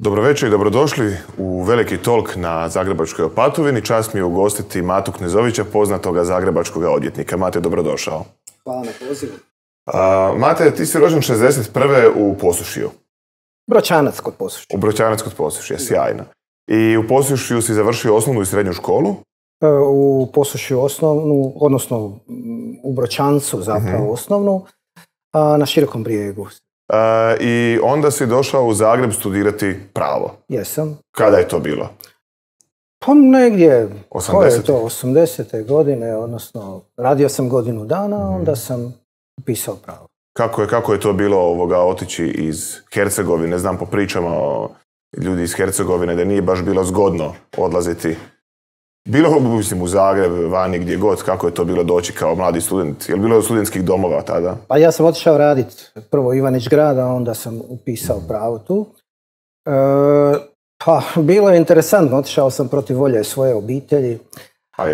Dobro večer i dobrodošli u Veliki talk na Zagrebačkoj Opatovini. Čast mi je ugostiti Matu Knezovića, poznatoga zagrebačkog odvjetnika. Mate, dobrodošao. Hvala na pozivu. Mate, ti si rođen 61. u Posušiju. Broćanac kod Posušja. U Broćanac kod Posušja, sjajno. I u Posušiju si završio osnovnu i srednju školu? U Posušju osnovnu, odnosno u Broćancu zapravo osnovnu, a na Širokom Brijegu. I onda si došao u Zagreb studirati pravo. Jesam. Kada je to bilo? Pa negdje, 80. koje je to, 80. godine, odnosno radio sam godinu dana, onda sam upisao pravo. Kako je to bilo otići iz Hercegovine? Znam po pričama o ljudi iz Hercegovine da nije baš bilo zgodno odlaziti. Bilo, mislim, u Zagreb, vani, gdje god, kako je to bilo doći kao mladi student? Je li bilo studentskih domova tada? Pa ja sam otišao raditi prvo Ivanić Grad, a onda sam upisao pravo tu. Pa bilo je interesantno, otišao sam protiv volje svoje obitelji.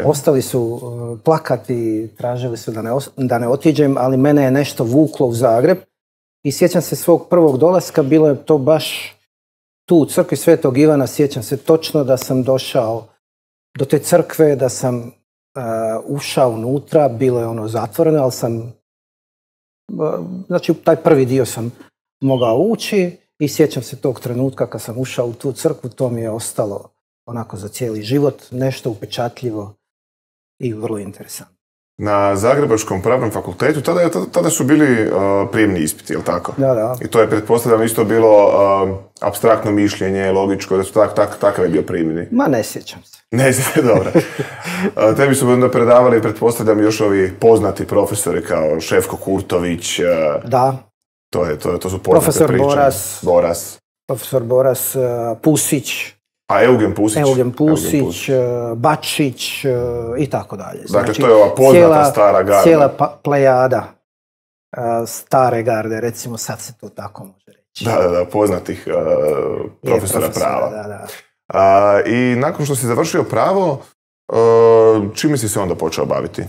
Ostali su plakati, tražili su da ne otiđem, ali mene je nešto vuklo u Zagreb. I sjećam se svog prvog dolaska, bilo je to baš tu u crkvi Svetog Ivana, sjećam se točno da sam došao do te crkve, da sam ušao unutra, bilo je ono zatvoreno, ali sam, znači taj prvi dio sam mogao ući i sjećam se tog trenutka kad sam ušao u tu crkvu, to mi je ostalo onako za cijeli život, nešto upečatljivo i vrlo interesantno. Na Zagrebačkom pravnom fakultetu tada su bili prijemni ispiti, jel tako? Da. I to je, pretpostavljam, isto bilo apstraktno mišljenje, logičko, da su takav je bio prijemni. Ma ne sjećam se. Ne sjećam, dobro. Tebi su onda predavali, pretpostavljam, još ovi poznati profesori kao Šefko Kurtović. Da. To su poznate priče. Boras. Profesor Boras, Pusić. A Eugen Pusić, Bačić i tako dalje. Dakle, to je ova poznata stara garda. Cijela plejada stare garde, recimo sad se to tako može reći. Da, poznatih profesora prava. Da. I nakon što si završio pravo, čime si se onda počeo baviti?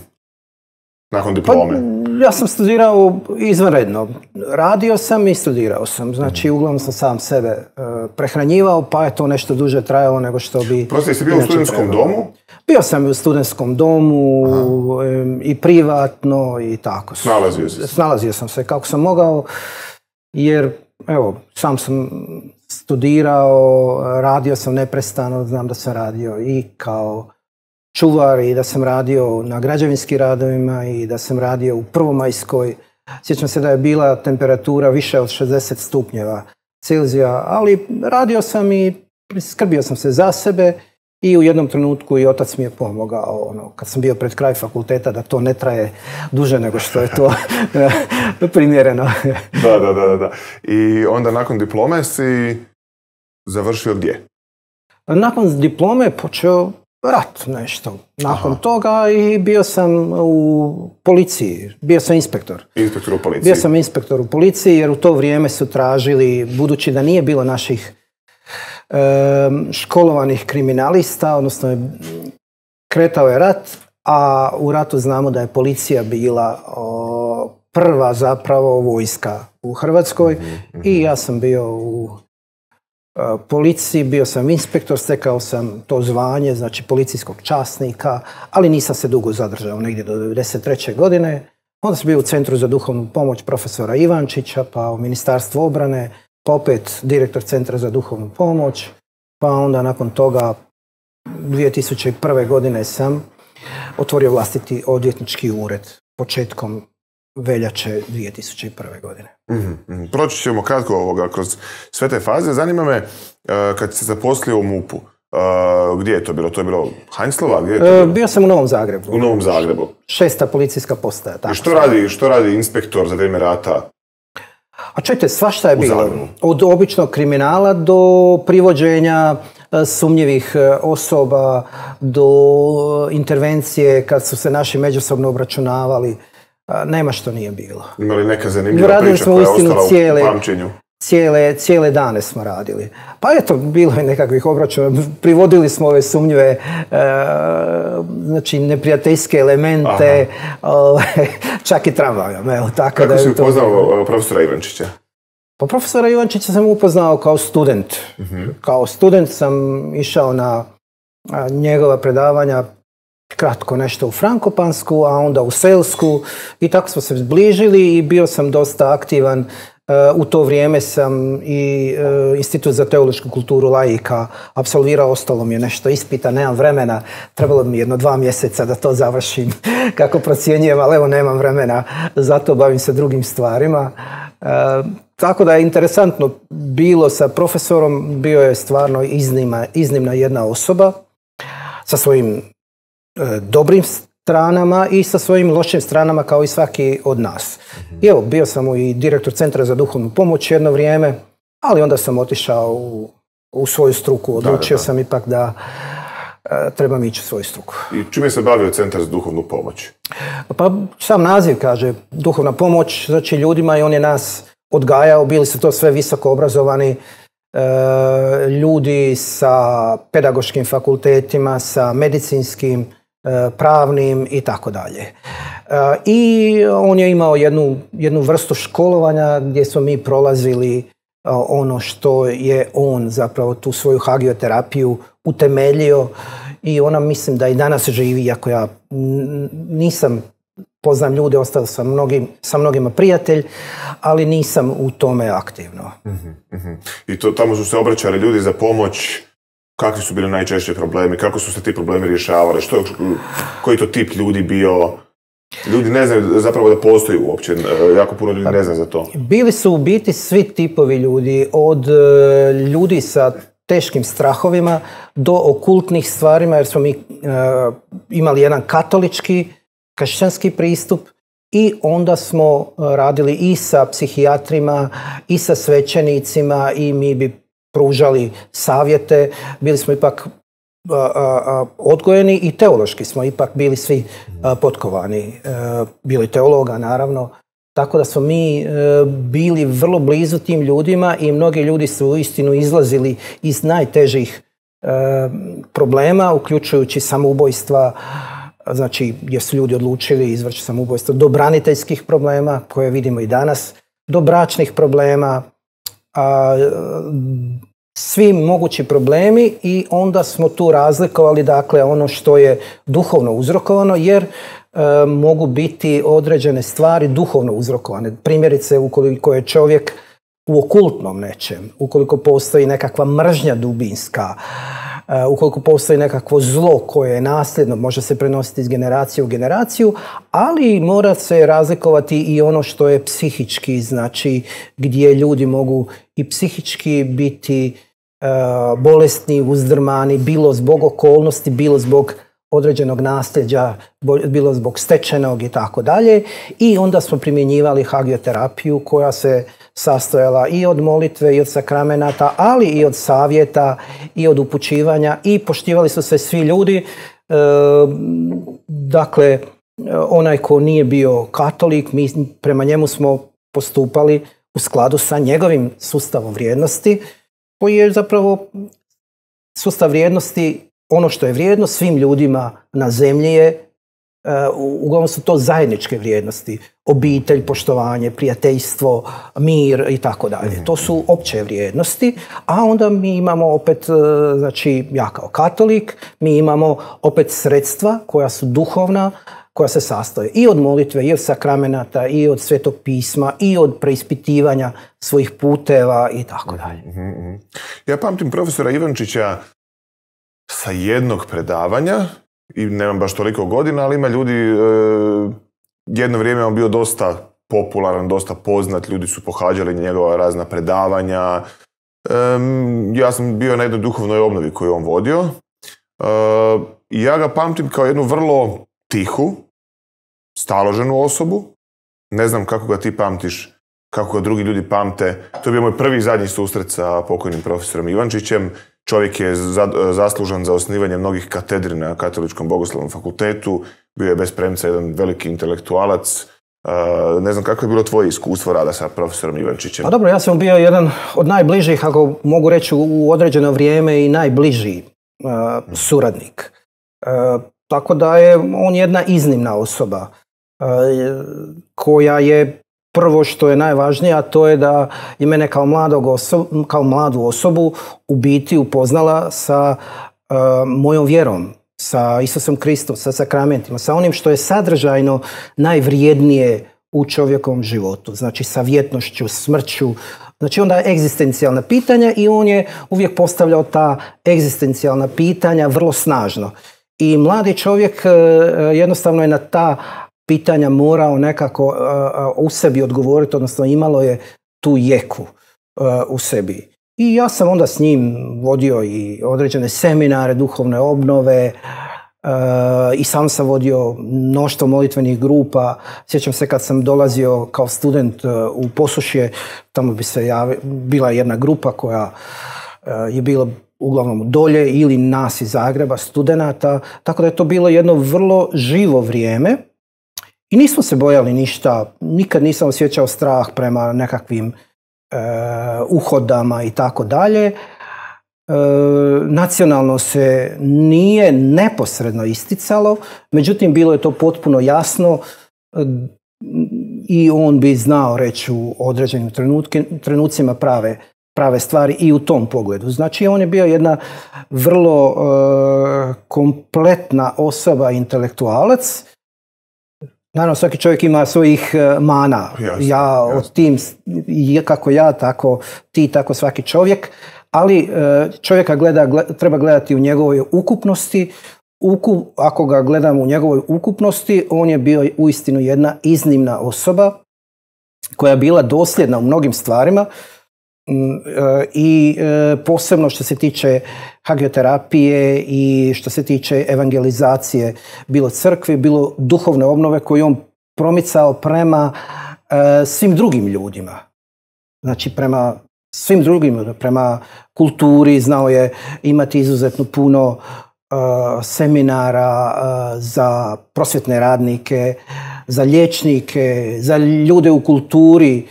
Nakon diplome? Pa, ja sam studirao izvanredno. Radio sam i studirao sam. Znači, uglavnom sam sam sebe prehranjivao, pa je to nešto duže trajalo nego što bi... Prosto, jesi bio u studentskom domu? Bio sam u studentskom domu i privatno i tako. Snalazio sam se kako sam mogao, jer, evo, sam sam studirao, radio sam neprestano, znam da sam radio i kao čuvar i da sam radio na građevinskim radovima i da sam radio u Prvomajskoj. Sjećam se da je bila temperatura više od 60 stupnjeva Celzija, ali radio sam i skrbio sam se za sebe i u jednom trenutku i otac mi je pomogao, kad sam bio pred kraj fakulteta, da to ne traje duže nego što je to primjereno. Da. I onda nakon diplome si završio gdje? Nakon diplome je počeo rat nešto. Nakon toga i bio sam u policiji. Bio sam inspektor. Inspektor u policiji? Bio sam inspektor u policiji jer u to vrijeme su tražili, budući da nije bilo naših školovanih kriminalista, odnosno kretao je rat, a u ratu znamo da je policija bila prva zapravo vojska u Hrvatskoj i ja sam bio u policiji, bio sam inspektor, stekao sam to zvanje, znači policijskog časnika, ali nisam se dugo zadržao, negdje do 1993. godine. Onda sam bio u Centru za duhovnu pomoć profesora Ivančića, pa u Ministarstvu obrane, pa opet direktor Centra za duhovnu pomoć, pa onda nakon toga 2001. godine sam otvorio vlastiti odvjetnički ured početkom veljače 2001. godine. Proći ćemo kratko kroz sve te faze. Zanima me, kad se zaposlio u MUP-u, gdje je to bilo? To je bilo Heinzlova? Gdje je to bilo? Bio sam u Novom Zagrebu. U Novom Zagrebu. 6. policijska postaja. I što radi inspektor za vrijeme rata? A čujte, svašta je bilo. Od običnog kriminala do privođenja sumnjivih osoba, do intervencije kad su se naši međusobno obračunavali. Nema što nije bilo. Imali neka zanimljiva priča koja je ostala u pamćenju? Cijele dane smo radili. Pa eto, bilo je nekakvih obračuna. Privodili smo ove sumnjive, znači neprijateljske elemente, čak i tramvajom. Kako si upoznao profesora Ivančića? Pa profesora Ivančića sam upoznao kao student. Kao student sam išao na njegova predavanja, kratko nešto u Frankopansku, a onda u Selsku i tako smo se zbližili i bio sam dosta aktivan. U to vrijeme sam i Institut za teološku kulturu laika apsolvirao, ostalo mi je nešto ispita, nemam vremena, trebalo mi 2 mjeseca da to završim kako procjenjujem, ali evo nemam vremena, zato bavim se drugim stvarima. Tako da je interesantno bilo sa profesorom, bio je stvarno iznimna jedna osoba sa svojim dobrim stranama i sa svojim lošim stranama kao i svaki od nas. I evo, bio sam i direktor Centra za duhovnu pomoć jedno vrijeme, ali onda sam otišao u svoju struku. Odlučio sam ipak da trebam ići u svoju struku. I čime se bavio Centar za duhovnu pomoć? Pa sam naziv kaže duhovna pomoć, znači ljudima i on je nas odgajao, bili su to sve visoko obrazovani ljudi sa pedagoškim fakultetima, sa medicinskim, pravnim i tako dalje. I on je imao jednu vrstu školovanja gdje smo mi prolazili ono što je on zapravo tu svoju hagioterapiju utemeljio i ona mislim da i danas živi, iako ja nisam, poznam ljude, ostao sam sa mnogima prijatelj, ali nisam u tome aktivno. I tamo su se obraćali ljudi za pomoć. Kakvi su bili najčešći problemi? Kako su se ti problemi rješavali? Koji to tip ljudi bio? Ljudi ne znaju zapravo da postoji uopće. Jako puno ljudi ne zna za to. Bili su u biti svi tipovi ljudi. Od ljudi sa teškim strahovima do okultnih stvarima, jer smo mi imali jedan katolički, kršćanski pristup i onda smo radili i sa psihijatrima i sa svećenicima i mi bi pružali savjete, bili smo ipak odgojeni i teološki smo ipak bili svi potkovani. Bilo i teologa naravno, tako da smo mi bili vrlo blizu tim ljudima i mnogi ljudi su uistinu izlazili iz najtežih problema, uključujući samoubojstva, znači gdje su ljudi odlučili izvrći samoubojstvo, do braniteljskih problema koje vidimo i danas, do bračnih problema, svi mogući problemi i onda smo tu razlikovali dakle ono što je duhovno uzrokovano jer mogu biti određene stvari duhovno uzrokovane. Primjerice ukoliko je čovjek u okultnom nečem, ukoliko postoji nekakva mržnja dubinska, ukoliko postoji nekakvo zlo koje je nasljedno, može se prenositi iz generacije u generaciju, ali mora se razlikovati i ono što je psihički, znači gdje ljudi mogu i psihički biti bolesni, uzdrmani, bilo zbog okolnosti, bilo zbog određenog nasljeđa, bilo zbog stečenog i tako dalje. I onda smo primjenjivali hagioterapiju koja se sastojala i od molitve i od sakramenata, ali i od savjeta i od upućivanja i poštivali su se svi ljudi. Dakle, onaj ko nije bio katolik, mi prema njemu smo postupali u skladu sa njegovim sustavom vrijednosti, koji je zapravo sustav vrijednosti, ono što je vrijedno svim ljudima na zemlji je, uglavnom su to zajedničke vrijednosti, obitelj, poštovanje, prijateljstvo, mir i tako dalje. To su opće vrijednosti, a onda mi imamo opet, znači ja kao katolik, mi imamo opet sredstva koja su duhovna, koja se sastoje i od molitve, i od sakramenata, i od Svetog pisma, i od preispitivanja svojih puteva i tako dalje. Ja pamtim profesora Ivančića sa jednog predavanja, i nemam baš toliko godina, ali ima ljudi, jedno vrijeme on bio dosta popularan, dosta poznat, ljudi su pohađali njegova razna predavanja. Ja sam bio na jednoj duhovnoj obnovi koju on vodio. Ja ga pamtim kao jednu vrlo tihu, staloženu osobu. Ne znam kako ga ti pamtiš, kako ga drugi ljudi pamte. To je bio moj prvi i zadnji susret sa pokojnim profesorom Ivančićem. Čovjek je zaslužan za osnivanje mnogih katedri na Katoličkom bogoslovnom fakultetu. Bio je bez premca jedan veliki intelektualac. Ne znam kako je bilo tvoje iskustvo rada sa profesorom Ivančićem. Pa dobro, ja sam bio jedan od najbližih, ako mogu reći u određeno vrijeme, i najbliži suradnik. Tako da je on jedna iznimna osoba koja je prvo što je najvažnije, a to je da je mene kao mladu osobu u biti upoznala sa mojom vjerom, sa Isusom Kristom, sa sakramentima, sa onim što je sadržajno najvrijednije u čovjekovom životu. Znači sa vjetnošću, smrću, znači onda egzistencijalna pitanja i on je uvijek postavljao ta egzistencijalna pitanja vrlo snažno. I mladi čovjek jednostavno je na ta pitanja morao nekako u sebi odgovoriti, odnosno imalo je tu jeku u sebi. I ja sam onda s njim vodio i određene seminare, duhovne obnove, i sam vodio mnoštvo molitvenih grupa. Sjećam se kad sam dolazio kao student u Posušje, tamo bi se bila jedna grupa koja je bila uglavnom dolje ili nas iz Zagreba, studenata, tako da je to bilo jedno vrlo živo vrijeme i nismo se bojali ništa, nikad nisam osjećao strah prema nekakvim uhodama i tako dalje. Nacionalno se nije neposredno isticalo, međutim bilo je to potpuno jasno i on bi znao reći u određenim trenucima prave stvari i u tom pogledu. Znači on je bio jedna vrlo kompletna osoba, intelektualac. Naravno, svaki čovjek ima svojih mana. Ja od tim, kako ja, tako ti, tako svaki čovjek. Ali čovjeka treba gledati u njegovoj ukupnosti. Ako ga gledamo u njegovoj ukupnosti, on je bio uistinu jedna iznimna osoba koja je bila dosljedna u mnogim stvarima i posebno što se tiče hagioterapije i što se tiče evangelizacije, bilo crkve, bilo duhovne obnove koju on promicao prema svim drugim ljudima. Znači prema svim drugim, prema kulturi, znao je imati izuzetno puno seminara za prosvjetne radnike, za liječnike, za ljude u kulturi.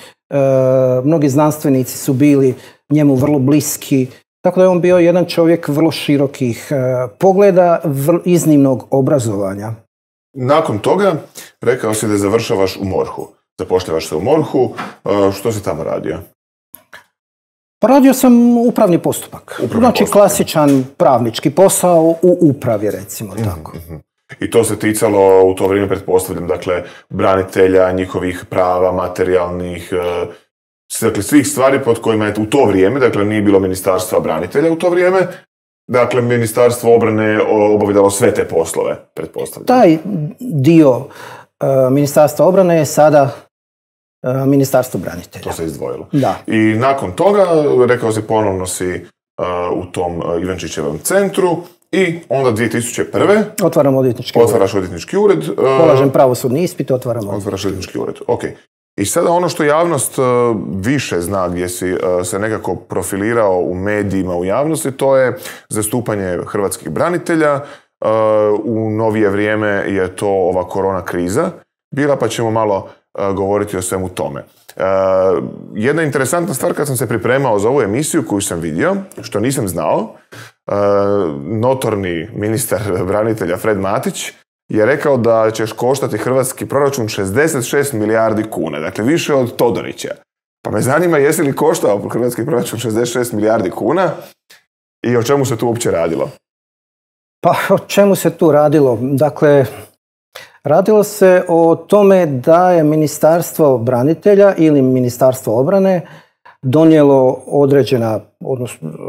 Mnogi znanstvenici su bili njemu vrlo bliski. Tako da je on bio jedan čovjek vrlo širokih pogleda, iznimnog obrazovanja. Nakon toga rekao si da završavaš u MORH-u. Zapošljavaš se u MORH-u. Što si tamo radio? Pa radio sam upravni postupak. Znači klasičan pravnički posao u upravi, recimo tako. I to se ticalo u to vrijeme, pretpostavljam, dakle, branitelja, njihovih prava, materijalnih, dakle, svih stvari pod kojima je u to vrijeme, dakle, nije bilo ministarstva branitelja u to vrijeme, dakle, ministarstvo obrane obavljalo sve te poslove, pretpostavljam. Taj dio ministarstva obrane je sada ministarstvo branitelja. To se izdvojilo. Da. I nakon toga, rekao si, ponovno si u tom Ivančićevom centru i onda 2001. Otvaram odvjetnički ured. Otvaraš odvjetnički ured. Polažem pravosudni ispit, otvaraš odvjetnički ured. Ok. I sada ono što javnost više zna, gdje si se nekako profilirao u medijima, u javnosti, to je zastupanje hrvatskih branitelja. U novije vrijeme je to ova korona kriza bila, pa ćemo malo govoriti o svemu tome. Jedna interesantna stvar, kad sam se pripremao za ovu emisiju koju sam vidio, što nisam znao, notorni ministar branitelja Fred Matić je rekao da ćeš koštati hrvatski proračun 66 milijardi kuna, dakle više od Todorića. Pa me zanima, jesi li koštao hrvatski proračun 66 milijardi kuna i o čemu se tu uopće radilo? Pa o čemu se tu radilo? Dakle, radilo se o tome da je Ministarstvo branitelja ili Ministarstvo obrane donijelo određena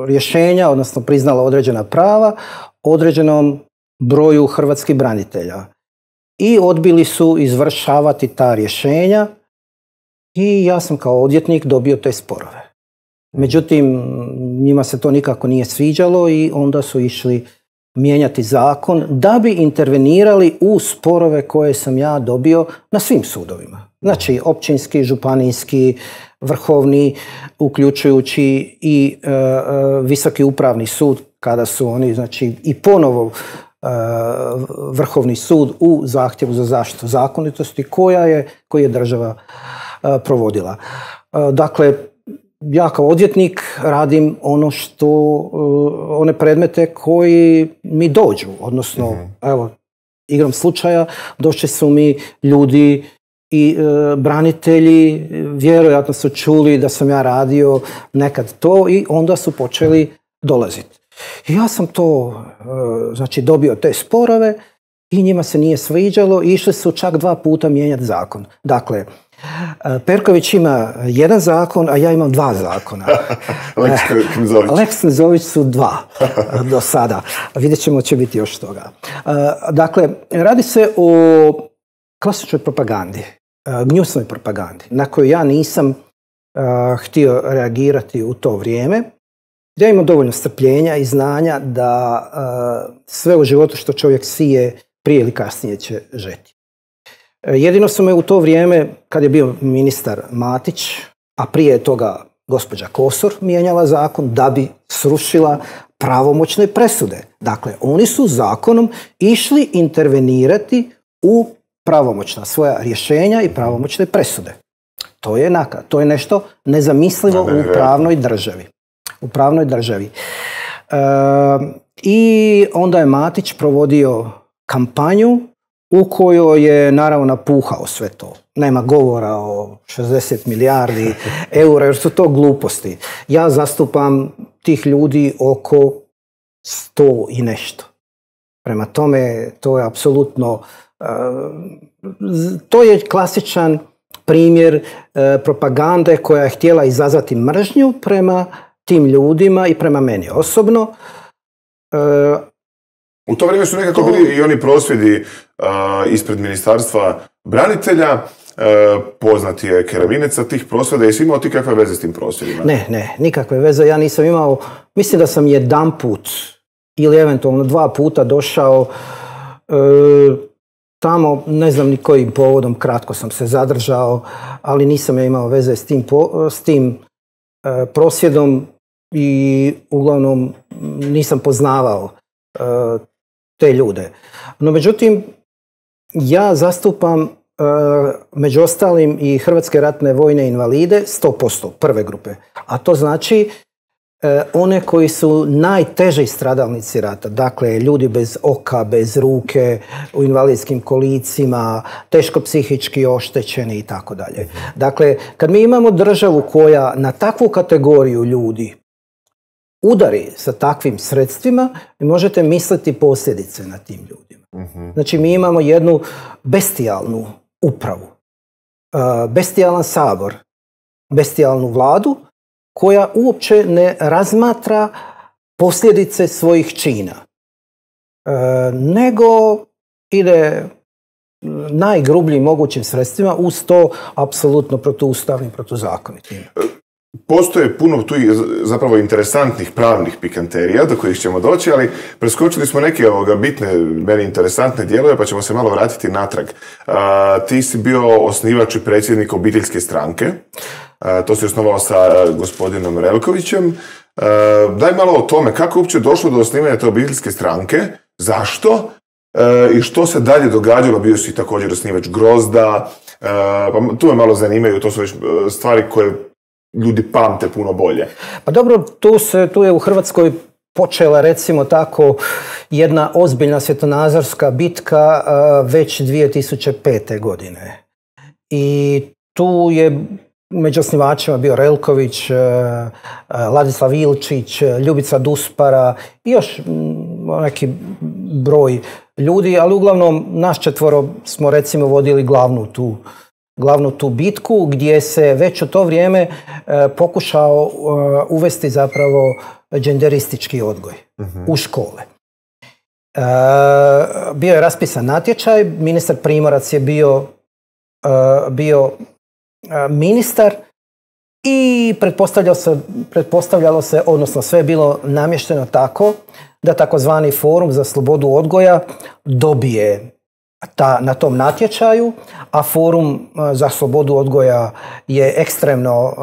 rješenja, odnosno priznalo određena prava određenom broju hrvatskih branitelja. I odbili su izvršavati ta rješenja i ja sam kao odvjetnik dobio te sporove. Međutim, njima se to nikako nije sviđalo i onda su išli mijenjati zakon da bi intervenirali u sporove koje sam ja dobio na svim sudovima. Znači, općinski, županijski, vrhovni, uključujući i Visoki upravni sud, kada su oni, znači, i ponovo Vrhovni sud u zahtjevu za zaštitu zakonitosti koji je država provodila. Dakle, ja kao odvjetnik radim one predmete koji mi dođu, odnosno, evo, igrom slučaja, došli su mi ljudi i branitelji vjerojatno su čuli da sam ja radio nekad to i onda su počeli dolaziti. I ja sam to, znači, dobio te sporove i njima se nije sviđalo i išli su čak 2 puta mijenjati zakon. Dakle, Perković ima 1 zakon, a ja imam 2 zakona. Lex Knezović su 2 do sada. Vidjet ćemo, će biti još toga. Dakle, radi se o klasičnoj propagandi, gnjusnoj propagandi, na koju ja nisam htio reagirati u to vrijeme. Ja imam dovoljno strpljenja i znanja da sve u životu što čovjek sije prije ili kasnije će žeti. Jedino su me u to vrijeme, kad je bio ministar Matić, a prije toga gospođa Kosor mijenjala zakon da bi srušila pravomoćne presude. Dakle, oni su zakonom išli intervenirati u pravomoćna svoja rješenja i pravomoćne presude. To je nešto nezamislivo u pravnoj državi. U pravnoj državi. I onda je Matić provodio kampanju u kojoj je naravno napuhao sve to. Nema govora o 60 milijardi eura, jer su to gluposti. Ja zastupam tih ljudi oko 100 i nešto. Prema tome, to je apsolutno, to je klasičan primjer propagande koja je htjela izazvati mržnju prema tim ljudima i prema meni osobno. U to vrijeme su nekako bili i oni prosvjedi ispred Ministarstva branitelja. Poznati je Keravinec sa tih prosvjeda. Jesi imao ti kakve veze s tim prosvjedima? Ne, nikakve veze. Ja nisam imao, mislim da sam 1 put ili eventualno 2 puta došao tamo, ne znam ni kojim povodom, kratko sam se zadržao, ali nisam ja imao veze s tim prosvjedom i uglavnom nisam poznavao te ljude. No, međutim, ja zastupam među ostalim i hrvatske ratne vojne invalide 100%, prve grupe. A to znači one koji su najteži stradalnici rata. Dakle, ljudi bez oka, bez ruke, u invalidskim kolicima, teško psihički oštećeni i tako dalje. Dakle, kad mi imamo državu koja na takvu kategoriju ljudi udari sa takvim sredstvima, vi možete misliti posljedice na tim ljudima. Znači, mi imamo jednu bestijalnu upravu, bestijalan sabor, bestijalnu vladu koja uopće ne razmatra posljedice svojih čina, nego ide najgrubljim mogućim sredstvima, uz to apsolutno protuustavnim, protuzakonitim. Postoje puno tu zapravo interesantnih pravnih pikanterija do kojih ćemo doći, ali preskočili smo neke bitne, meni interesantne dijelove, pa ćemo se malo vratiti natrag. Ti si bio osnivač i predsjednik obiteljske stranke. To si osnovao sa gospodinom Relkovićem. Daj malo o tome, kako je uopće došlo do osnivanja te obiteljske stranke, zašto i što se dalje događalo. Bio si također osnivač Grozda, pa tu me malo zanimaju, to su već stvari koje ljudi pamte puno bolje. Pa dobro, tu je u Hrvatskoj počela, recimo tako, jedna ozbiljna svjetonazorska bitka već 2005. godine. I tu je među osnivačima bio Relković, Ladislav Ilčić, Ljubica Duspara i još neki broj ljudi, ali uglavnom nas 4 smo recimo vodili glavnu tu bitku, gdje se već u to vrijeme pokušao uvesti zapravo genderistički odgoj u škole. Bio je raspisan natječaj, ministar Primorac je bio ministar i pretpostavljalo se, odnosno sve je bilo namješteno tako da takozvani Forum za slobodu odgoja dobije na tom natječaju, a Forum za slobodu odgoja je ekstremno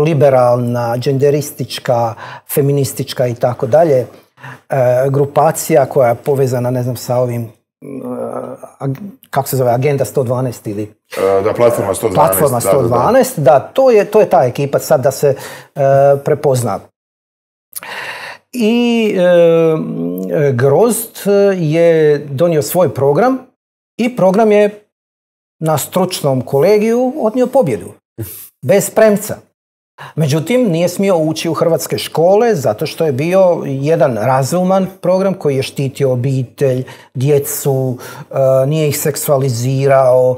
liberalna, genderistička, feministička i tako dalje grupacija koja je povezana, ne znam, sa ovim kako se zove, Agenda 112 ili... Da, Platforma 112. Platforma 112, da, to je ta ekipa sad da se prepozna. I Grozd je donio svoj program i program je na stručnom kolegiju odnio pobjedu. Bez premca. Međutim, nije smio ući u hrvatske škole zato što je bio jedan razuman program koji je štitio obitelj, djecu, nije ih seksualizirao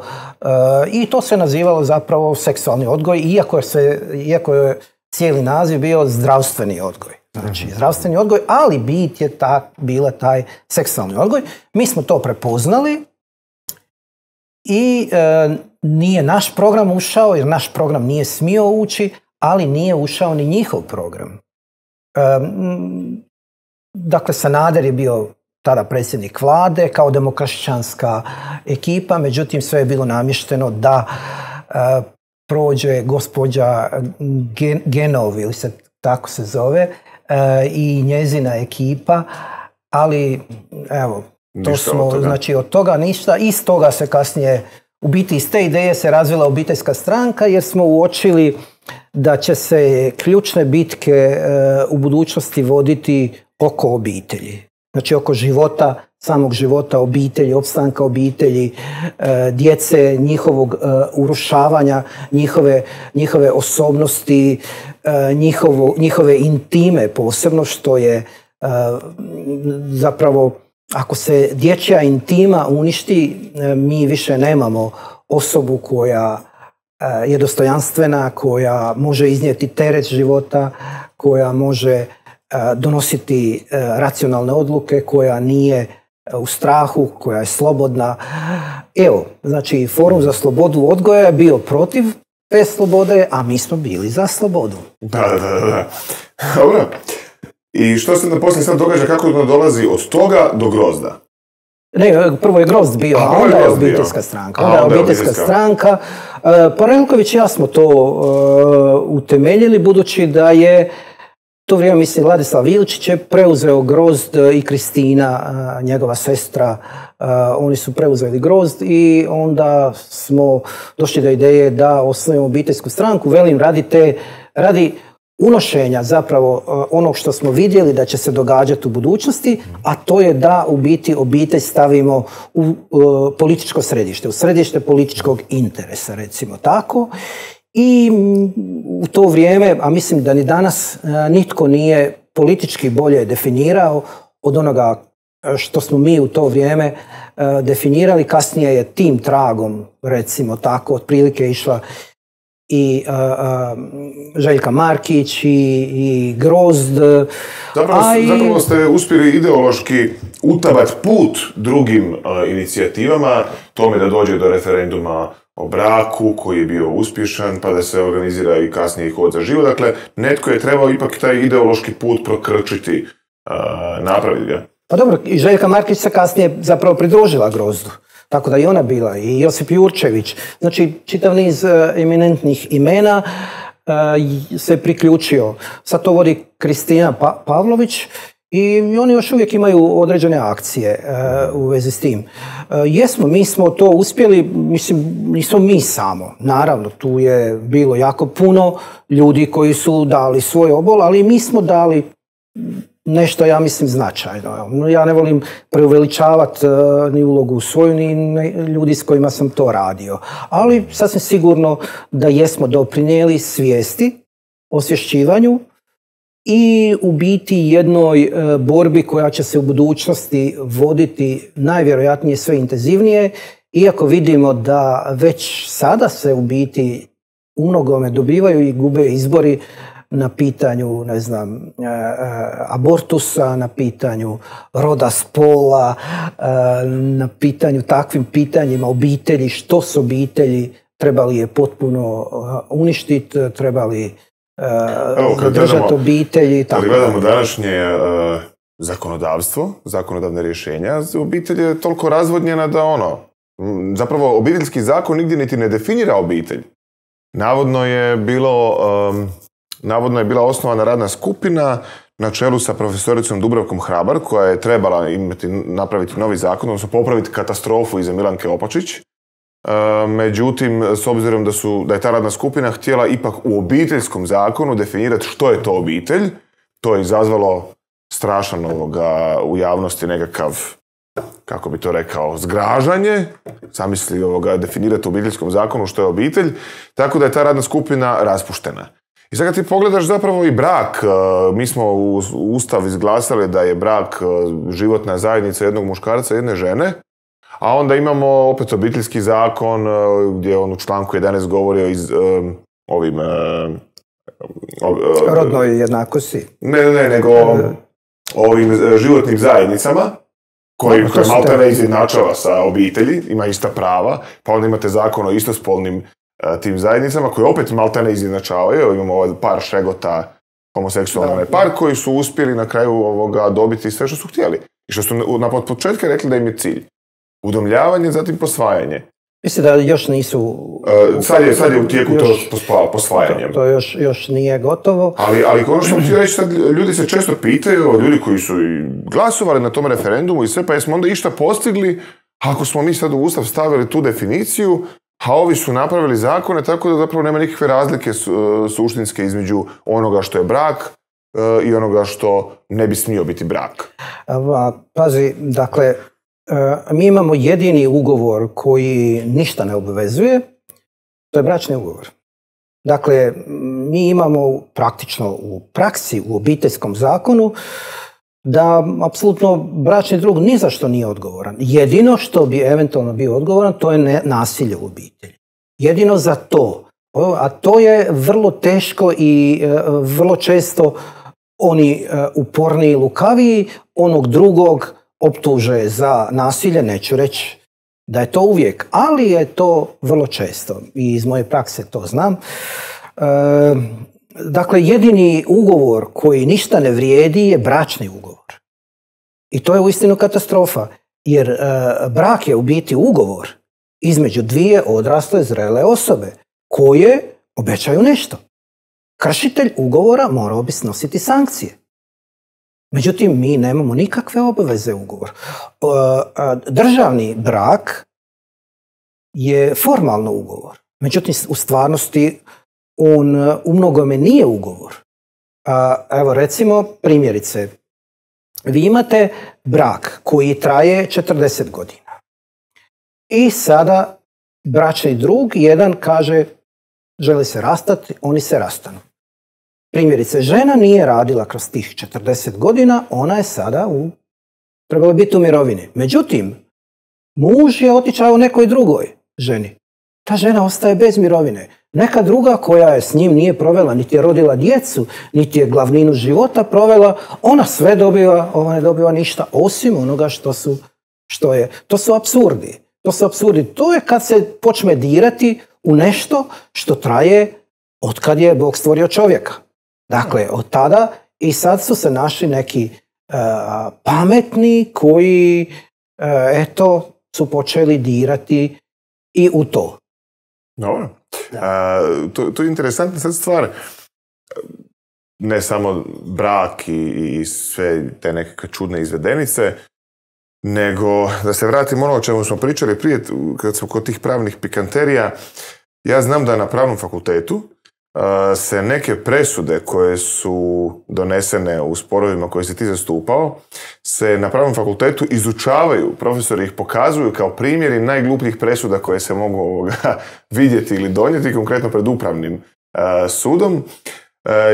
i to se nazivalo zapravo seksualni odgoj, iako je cijeli naziv bio zdravstveni odgoj. Znači, zdravstveni odgoj, ali bit je bila taj seksualni odgoj. Mi smo to prepoznali i nije naš program ušao, jer naš program nije smio ući, ali nije ušao ni njihov program. Dakle, Sanader je bio tada predsjednik vlade kao demokršćanska ekipa, međutim sve je bilo namješteno da prođe gospođa Genov, ili se tako se zove, i njezina ekipa, ali evo, to smo, znači od toga ništa, iz toga se kasnije, u biti iz te ideje se razvila obiteljska stranka, jer smo uočili da će se ključne bitke u budućnosti voditi oko obitelji. Znači oko života, samog života obitelji, opstanka obitelji, djece, njihovog urušavanja, njihove osobnosti, njihove intime posebno, što je zapravo, ako se dječja intima uništi, mi više nemamo osobu koja je dostojanstvena, koja može iznijeti teret života, koja može donositi racionalne odluke, koja nije u strahu, koja je slobodna. Evo, znači Forum za slobodu odgoja je bio protiv te slobode, a mi smo bili za slobodu. Da. Dobro. I što se poslije sad događa, kako dolazi od toga do Grozda? Ne, prvo je Grozd bio, a onda je obiteljska stranka. Onda je obiteljska stranka. Pa Relković i ja smo to utemeljili, budući da je to vrijeme, mislim, Ladislav Ilčić je preuzeo Grozd i Kristina, njegova sestra, oni su preuzeli Grozd i onda smo došli do ideje da osnovimo obiteljsku stranku, velim, radi unošenja zapravo onog što smo vidjeli da će se događati u budućnosti, a to je da u biti obitelj stavimo u političko središte, u središte političkog interesa, recimo tako. I u to vrijeme, a mislim da ni danas nitko nije politički bolje definirao od onoga što smo mi u to vrijeme definirali. Kasnije je tim tragom, recimo tako, otprilike išla i Željka Markić i Grozd. Zapravo ste uspjeli ideološki utabat put drugim inicijativama, tome da dođe do referenduma o braku koji je bio uspješan, pa da se organizira i kasnije i Hod za život. Dakle, netko je trebao ipak taj ideološki put prokrčiti, napraviti ga. Pa dobro, i Željka Markić se kasnije zapravo pridružila Grozdu. Tako da i ona bila, i Josip Jurčević. Znači, čitav niz eminentnih imena se priključio. Sad to vodi Kristina Pavlović i oni još uvijek imaju određene akcije u vezi s tim. Mi smo to uspjeli, mislim, nismo mi samo. Naravno, tu je bilo jako puno ljudi koji su dali svoj obol, ali mi smo dali nešto, ja mislim, značajno. Ja ne volim preuveličavati ni ulogu svoju, ni ljudi s kojima sam to radio. Ali sasvim sigurno da jesmo doprinijeli svijesti, osvješćivanju i u biti jednoj borbi koja će se u budućnosti voditi najvjerojatnije sve intenzivnije, iako vidimo da već sada se u biti u mnogome dobivaju i gube izbori na pitanju, ne znam, abortusa, na pitanju roda, spola, na pitanju takvim pitanjima obitelji, što su obitelji, trebali je potpuno uništiti, trebali držati obitelji. Kad gledamo današnje zakonodavstvo, zakonodavne rješenja, obitelj je toliko razvodnjena da zapravo obiteljski zakon nigdje niti ne definira obitelj. Navodno je bila osnovana radna skupina na čelu sa profesoricom Dubravkom Hrabar, koja je trebala napraviti novi zakon, odnosno popraviti katastrofu iza Milanke Opačić. Međutim, s obzirom da je ta radna skupina htjela ipak u obiteljskom zakonu definirati što je to obitelj, to je izazvalo strašan u javnosti nekakav kako bi to rekao, zgražanje, zamisli definirati u obiteljskom zakonu što je obitelj, tako da je ta radna skupina raspuštena. I sad kad ti pogledaš zapravo i brak, mi smo u Ustav izglasali da je brak životna zajednica jednog muškarca i jedne žene, a onda imamo opet obiteljski zakon gdje on u članku 11 govori o rodnoj jednakosti. Ne, nego o ovim životnim zajednicama koji maltene izjednačava sa obitelji, ima ista prava, pa onda imate zakon o istospolnim tim zajednicama koji opet maltene izjednačavaju. Imamo par šegota, homoseksualne par koji su uspjeli na kraju dobiti sve što su htjeli. I što su od početka rekli da im je cilj. Udomljavanje, zatim posvajanje. Mislim da još nisu... Sad je u tijeku to posvajanje. To još nije gotovo. Ali ono što ti reći, sad ljudi se često pitaju, ljudi koji su i glasovali na tom referendumu i sve, pa jesmo onda išta postigli ako smo mi sad u Ustav stavili tu definiciju, a ovi su napravili zakone, tako da zapravo nema nikakve razlike suštinske između onoga što je brak i onoga što ne bi smio biti brak. Pazi, dakle, mi imamo jedini ugovor koji ništa ne obvezuje, to je bračni ugovor. Dakle, mi imamo praktično u praksi, u obiteljskom zakonu, da apsolutno bračni drug ni za što nije odgovoran. Jedino što bi eventualno bio odgovoran, to je nasilje u obitelji. Jedino za to. A to je vrlo teško i vrlo često oni uporniji, lukaviji onog drugog optuže za nasilje, neću reći da je to uvijek, ali je to vrlo često i iz moje prakse to znam. Dakle, jedini ugovor koji ništa ne vrijedi je bračni ugovor. I to je uistinu katastrofa, jer brak je u biti ugovor između dvije odrasle, zrele osobe koje obećaju nešto. Kršitelj ugovora morao bi snositi sankcije. Međutim, mi nemamo nikakve obveze ugovor. Državni brak je formalno ugovor. Međutim, u stvarnosti on u mnogome nije ugovor. Evo recimo primjerice, vi imate brak koji traje 40 godina. I sada bračni drug jedan kaže želi se rastati, oni se rastanu. Primjerice, žena nije radila kroz tih 40 godina, ona je sada trebala biti u mirovini. Međutim, muž je otišao nekoj drugoj ženi. Ta žena ostaje bez mirovine. Neka druga koja je s njim nije provela, niti je rodila djecu, niti je glavninu života provela, ona sve dobiva, ova ne dobiva ništa, osim onoga što je. To su apsurdi. To je kad se počne dirati u nešto što traje od kad je Bog stvorio čovjeka. Dakle, od tada i sad su se našli neki pametni koji, su počeli dirati i u to. Dobro. To je interesantna sad stvar. Ne samo brak i sve te nekakve čudne izvedenice, nego da se vratimo ono o čemu smo pričali prije, kad smo kod tih pravnih pikanterija. Ja znam da na pravnom fakultetu se neke presude koje su donesene u sporovima koje si ti zastupao, se na pravnom fakultetu izučavaju, profesori ih pokazuju kao primjeri najglupljih presuda koje se mogu vidjeti ili donijeti, konkretno pred upravnim sudom.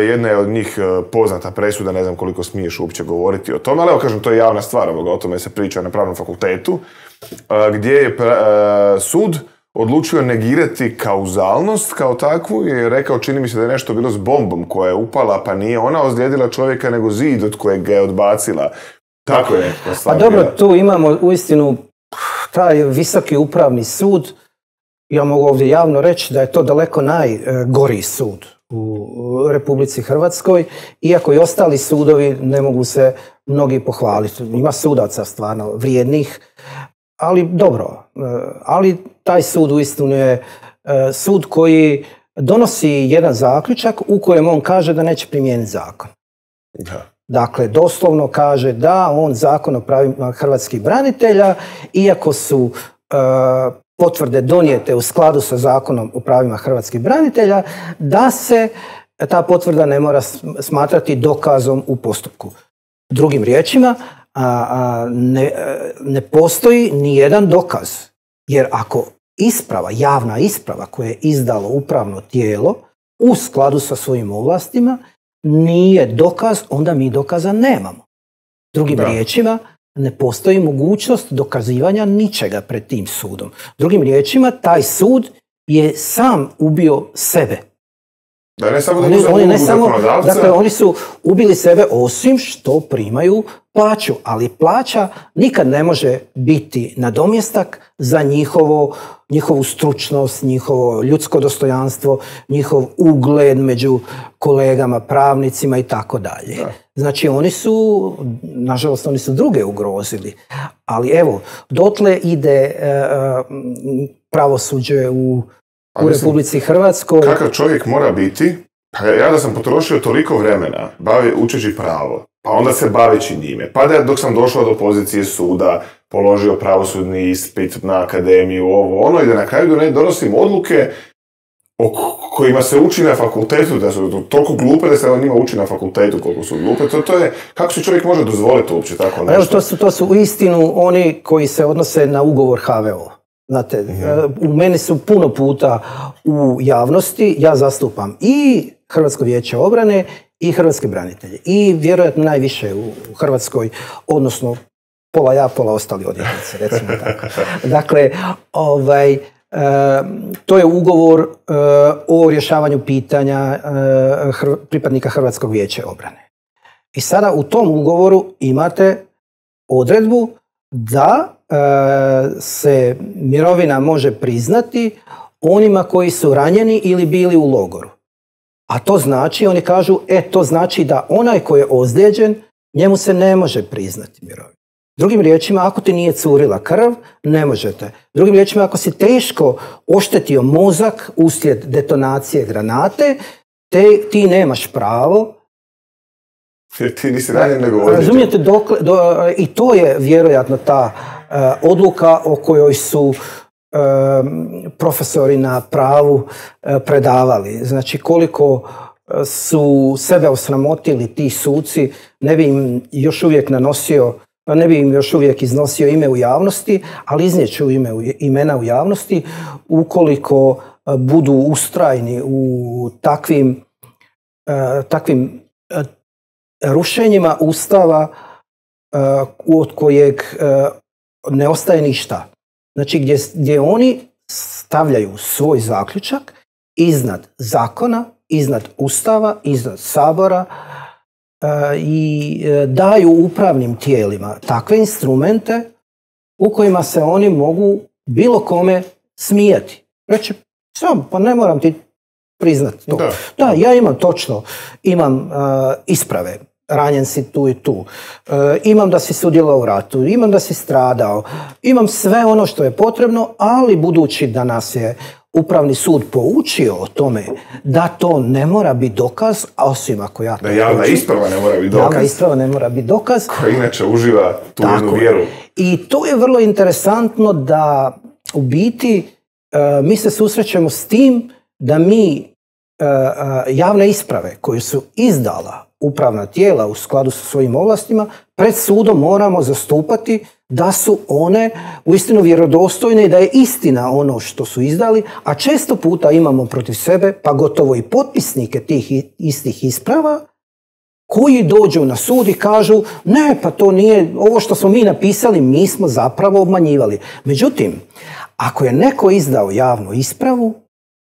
Jedna je od njih poznata presuda, ne znam koliko smiješ uopće govoriti o tome, ali evo kažem, to je javna stvar, o tome se priča na pravnom fakultetu, gdje je sud odlučio negirati kauzalnost kao takvu i je rekao, čini mi se da je nešto bilo s bombom koja je upala, pa nije ona ozlijedila čovjeka nego zid od kojeg ga je odbacila. Tako je. Pa dobro, tu imamo uistinu taj visoki upravni sud. Ja mogu ovdje javno reći da je to daleko najgori sud u Republici Hrvatskoj, iako i ostali sudovi ne mogu se mnogi pohvaliti. Ima sudaca stvarno vrijednih, ali dobro. Ali taj sud uistinu je sud koji donosi jedan zaključak u kojem on kaže da neće primijeniti zakon. Da. Dakle, doslovno kaže da on zakon o pravima hrvatskih branitelja, iako su potvrde donijete u skladu sa zakonom o pravima hrvatskih branitelja, da se ta potvrda ne mora smatrati dokazom u postupku. Drugim riječima, ne postoji ni jedan dokaz. Jer ako javna isprava koja je izdalo upravno tijelo u skladu sa svojim ovlastima nije dokaz, onda mi dokaza nemamo. Drugim riječima, ne postoji mogućnost dokazivanja ničega pred tim sudom. Drugim riječima, taj sud je sam ubio sebe. Da, ne samo da oni dakle, oni su ubili sebe osim što primaju plaću, ali plaća nikad ne može biti nadomjestak za njihovu stručnost, njihovo ljudsko dostojanstvo, njihov ugled među kolegama, pravnicima i tako dalje. Znači, nažalost, oni su druge ugrozili. Ali evo, dotle ide pravosuđe u Republici Hrvatskoj. Kakav čovjek mora biti? Pa ja da sam potrošio toliko vremena učeći pravo, pa onda se baveći njime, pa da dok sam došao do pozicije suda, položio pravosudni ispit na akademiju, i da na kraju donosim odluke o kojima se uči na fakultetu, da su toliko glupe da se o njima uči na fakultetu koliko su glupe. To je, kako se čovjek može dozvoliti uopće tako nešto? Evo, to su uistinu oni koji se odnose na ugovor HVO. Znate, u meni su puno puta u javnosti, ja zastupam i Hrvatsko vijeće obrane i hrvatske branitelje. I vjerojatno najviše u Hrvatskoj, odnosno pola ja, pola ostali odvjetnici, recimo tako. Dakle, to je ugovor o rješavanju pitanja pripadnika Hrvatskog vijeća obrane. I sada u tom ugovoru imate odredbu da se mirovina može priznati onima koji su ranjeni ili bili u logoru. A to znači, oni kažu, to znači da onaj koji je ozlijeđen, njemu se ne može priznati mirovina. Drugim riječima, ako ti nije curila krv, ne možete. Drugim riječima, ako si teško oštetio mozak uslijed detonacije granate, ti nemaš pravo. Jer ti nisi ranjen nego ozlijeđen. Razumijete, i to je vjerojatno ta odluka o kojoj su profesori na pravu predavali. Znači, koliko su sebe osramotili ti suci, ne bi im još uvijek iznosio ime u javnosti, ali iznijeću imena u javnosti ukoliko budu ustrajni u takvim rušenjima Ustava od kojeg ne ostaje ništa. Znači, gdje oni stavljaju svoj zaključak iznad zakona, iznad Ustava, iznad Sabora i daju upravnim tijelima takve instrumente u kojima se oni mogu bilo kome smijati. Reći, pa ne moram ti priznati to. Da, ja imam isprave. Ranjen si tu i tu. Imam da si sudjelovao u ratu, imam da si stradao, imam sve ono što je potrebno, ali budući da nas je Upravni sud poučio o tome da to ne mora biti dokaz, a osim ako ja to da javna isprava ne mora biti dokaz. Javna isprava ne mora biti dokaz. Koja inače uživa tu jednu vjeru. I to je vrlo interesantno da u biti mi se susrećemo s tim da mi javne isprave koje su izdala upravna tijela u skladu sa svojim ovlastima pred sudom moramo zastupati da su one uistinu vjerodostojne i da je istina ono što su izdali, a često puta imamo protiv sebe, pa gotovo i potpisnike tih istih isprava, koji dođu na sud i kažu ne, pa to nije, ovo što smo mi napisali, mi smo zapravo obmanjivali. Međutim, ako je neko izdao javnu ispravu,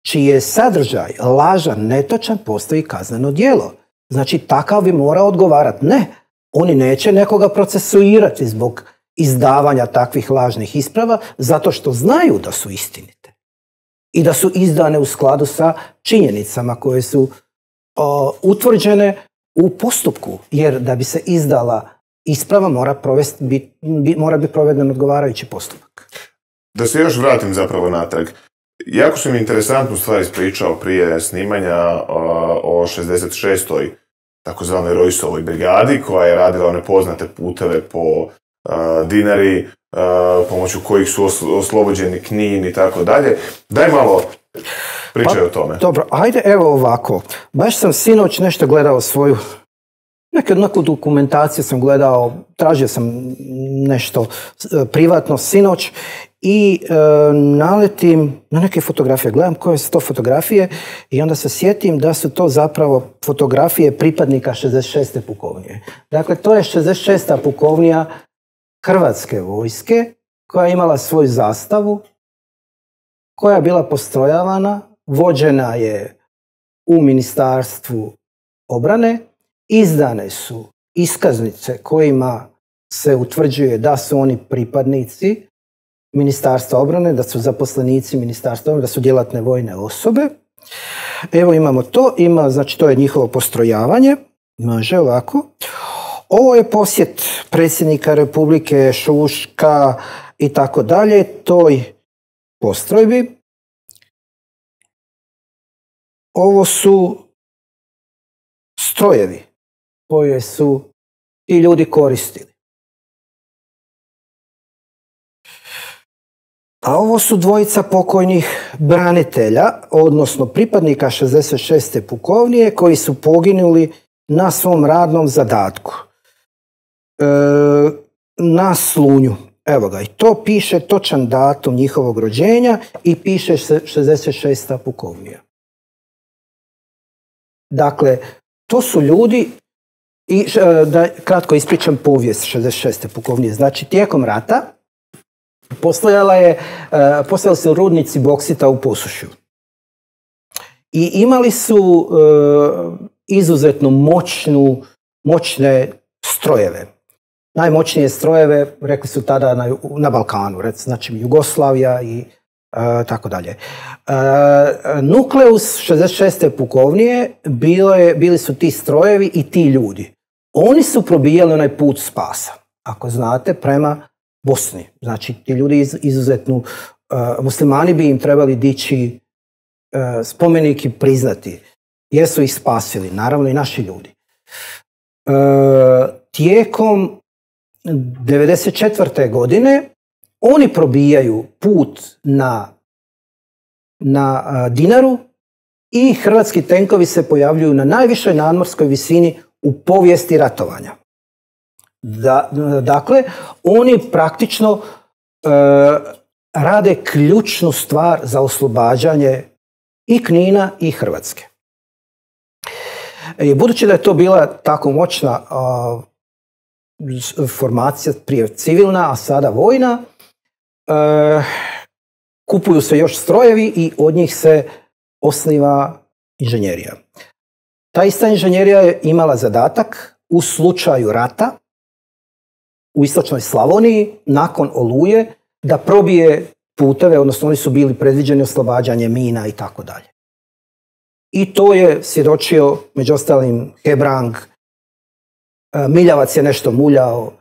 čiji je sadržaj lažan, netočan, postoji kazneno djelo. Znači, takav bi morao odgovarati. Ne, oni neće nekoga procesuirati zbog izdavanja takvih lažnih isprava, zato što znaju da su istinite i da su izdane u skladu sa činjenicama koje su utvrđene u postupku, jer da bi se izdala isprava mora biti proveden odgovarajući postupak. Da se još vratim zapravo natrag. Jako sam interesantnu stvar ispričao prije snimanja o 66. takozvanoj Rojsovoj brigadi, koja je radila one poznate puteve po Dinari, pomoću kojih su oslobođeni Knin i tako dalje. Daj malo pričaj o tome. Dobro, ajde evo ovako. Baš sam sinoć nešto gledao svoju Neku dokumentaciju sam gledao, tražio sam nešto privatno sinoć i naletim na neke fotografije. Gledam koje su to fotografije i onda se sjetim da su to zapravo fotografije pripadnika 66. pukovnije. Dakle, to je 66. pukovnija Hrvatske vojske koja je imala svoju zastavu, koja je bila postrojavana, vođena je u Ministarstvu obrane, izdane su iskaznice kojima se utvrđuje da su oni pripadnici Ministarstva obrane, da su zaposlenici Ministarstva obrane, da su djelatne vojne osobe. Evo imamo to, znači to je njihovo postrojavanje, može ovako. Ovo je posjet predsjednika Republike, Šuška i tako dalje, toj postrojbi. Ovo su strojevi koje su i ljudi koristili. A ovo su dvojica pokojnih branitelja, odnosno pripadnika 66. pukovnije koji su poginuli na svom radnom zadatku. Na Slunju. Evo ga, i to piše točan datum njihovog rođenja i piše 66. pukovnija. Dakle, to su ljudi, i da kratko ispričam povijest 66. pukovnije. Znači, tijekom rata postojali su rudnici boksita u Posušju. I imali su izuzetno moćne strojeve. Najmoćnije strojeve, rekli su tada na Balkanu, znači Jugoslavija i tako dalje. Nukleus 66. pukovnije bili su ti strojevi i ti ljudi. Oni su probijali onaj put spasa, ako znate, prema Bosni. Znači, ti ljudi izuzetno, muslimani bi im trebali dići spomenik i priznati. Jesu ih spasili, naravno i naši ljudi. Tijekom 1994. godine oni probijaju put na Dinaru i hrvatski tenkovi se pojavljuju na najvišoj nadmorskoj visini u povijesti ratovanja. Dakle, oni praktično rade ključnu stvar za oslobađanje i Knina i Hrvatske. Budući da je to bila tako moćna formacija, prije civilna, a sada vojna, kupuju se još strojevi i od njih se osniva inženjerija. Ta ista inženjerija je imala zadatak u slučaju rata u istočnoj Slavoniji, nakon Oluje, da probije puteve, odnosno oni su bili predviđeni oslobađanje mina i tako dalje. I to je svjedočio, među ostalim, Hebrang, Miljavac je nešto muljao,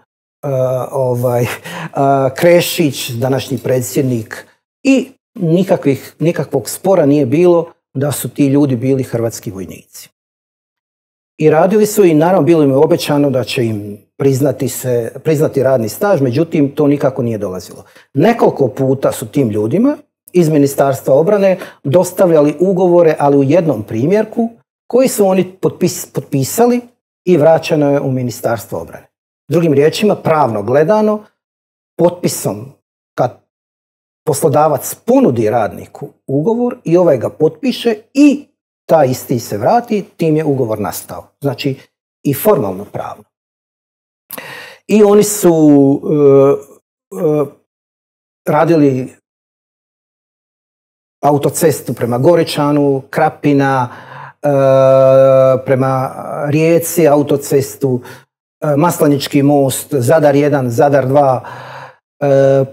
Krešić, današnji predsjednik, i nikakvog spora nije bilo da su ti ljudi bili hrvatski vojnici. I radili su i naravno bilo im je obećano da će im priznati radni staž, međutim to nikako nije dolazilo. Nekoliko puta su tim ljudima iz Ministarstva obrane dostavljali ugovore, ali u jednom primjerku, koji su oni potpisali i vraćeno je u Ministarstvo obrane. Drugim riječima, pravno gledano, potpisom, kad poslodavac ponudi radniku ugovor i ovaj ga potpiše i taj isti se vrati, tim je ugovor nastao. Znači i formalno pravno. I oni su radili autocestu prema Goričanu, Krapina, prema Rijeci autocestu, Maslanički most, Zadar 1, Zadar 2,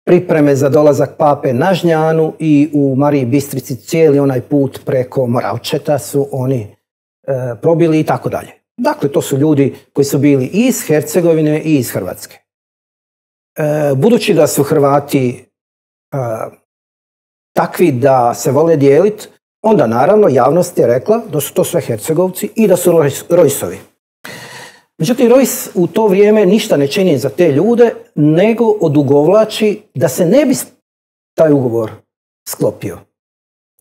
pripreme za dolazak Pape na Žnjanu i u Mariji Bistrici cijeli onaj put preko Moravčeta su oni probili i tako dalje. Dakle, to su ljudi koji su bili i iz Hercegovine i iz Hrvatske. Budući da su Hrvati takvi da se vole dijeliti, onda naravno javnost je rekla da su to sve Hercegovci i da su Rojsovi. Međutim, Rojs u to vrijeme ništa ne čini za te ljude, nego odugovlači da se ne bi taj ugovor sklopio.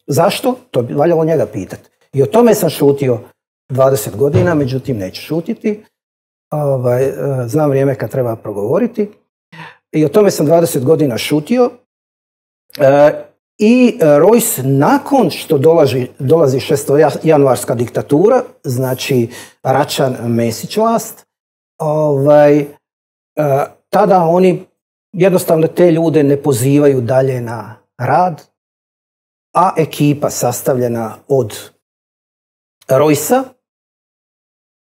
Zašto? To bi valjalo njega pitati. I o tome sam šutio 20 godina, međutim neću šutiti. Znam vrijeme kad treba progovoriti. I o tome sam 20 godina šutio. I Rojs, nakon što dolazi 6. januarska diktatura, znači Račan, Mesić vlast, tada oni jednostavno te ljude ne pozivaju dalje na rad, a ekipa sastavljena od Rojsa,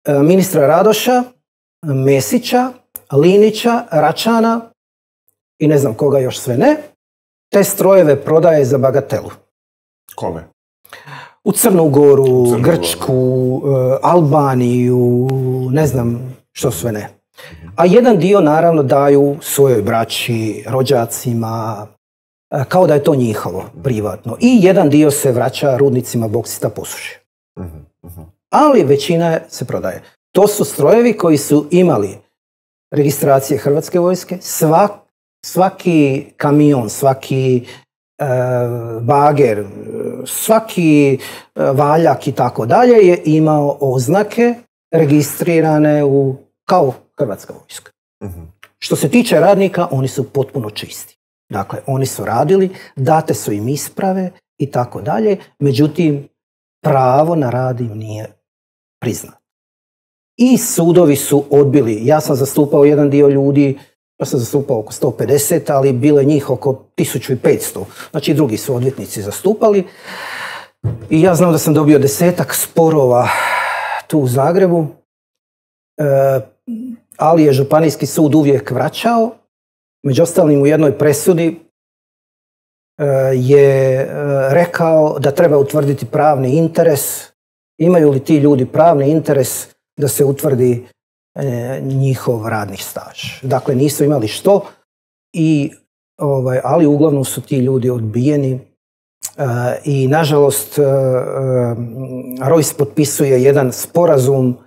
ministra Radoša, Mesića, Linića, Račana i ne znam koga još sve ne, te strojeve prodaje za bagatelu. Kome? U Crnu Goru, Grčku, Albaniju, ne znam što sve ne. A jedan dio naravno daju svojoj braći, rođacima, kao da je to njihovo, privatno. I jedan dio se vraća rudnicima boksita Posušje. Ali većina se prodaje. To su strojevi koji su imali registracije Hrvatske vojske, svaki kamion, svaki bager, svaki valjak i tako dalje je imao oznake registrirane kao Hrvatska vojska. Što se tiče radnika, oni su potpuno čisti. Dakle, oni su radili, date su im isprave i tako dalje, međutim, pravo na rad im nije priznato. I sudovi su odbili. Ja sam zastupao jedan dio ljudi, ja sam zastupao oko 150, ali bilo je njih oko 1500. Znači, drugi su odvjetnici zastupali. I ja znam da sam dobio 10-ak sporova tu u Zagrebu, ali je županijski sud uvijek vraćao. Među ostalim u jednoj presudi je rekao da treba utvrditi pravni interes. Imaju li ti ljudi pravni interes da se utvrdi njihov radni staž. Dakle, nisu imali što, ali uglavnom su ti ljudi odbijeni i nažalost Rojs potpisuje jedan sporazum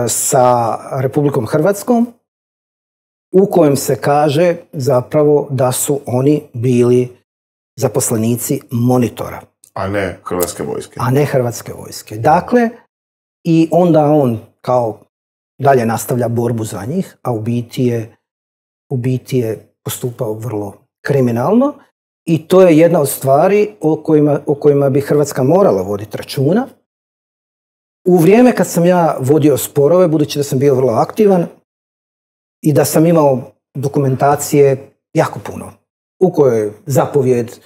sa Republikom Hrvatskom u kojem se kaže zapravo da su oni bili zaposlenici Monitora. A ne Hrvatske vojske. A ne Hrvatske vojske. Dakle, i onda on kao dalje nastavlja borbu za njih, a u biti je postupao vrlo kriminalno i to je jedna od stvari o kojima bi Hrvatska morala voditi računa. U vrijeme kad sam ja vodio sporove, budući da sam bio vrlo aktivan i da sam imao dokumentacije jako puno, u kojoj je zapovjed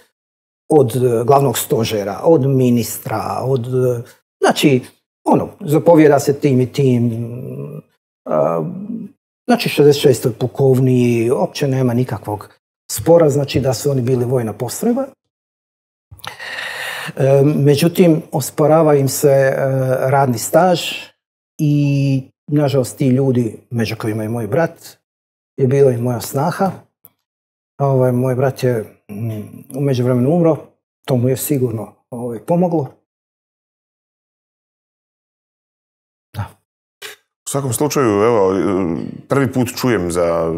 od glavnog stožera, od ministra, znači, zapovjeda se tim i tim, znači 66. pukovniji, uopće nema nikakvog spora, znači da su oni bili vojna postrojba. Međutim, osporava im se radni staž i, nažalost, ti ljudi, među kojima je moj brat, je bila i moja snaha. Moj brat je u međuvremenu umro, to mu je sigurno pomoglo. U svakom slučaju, evo, prvi put čujem za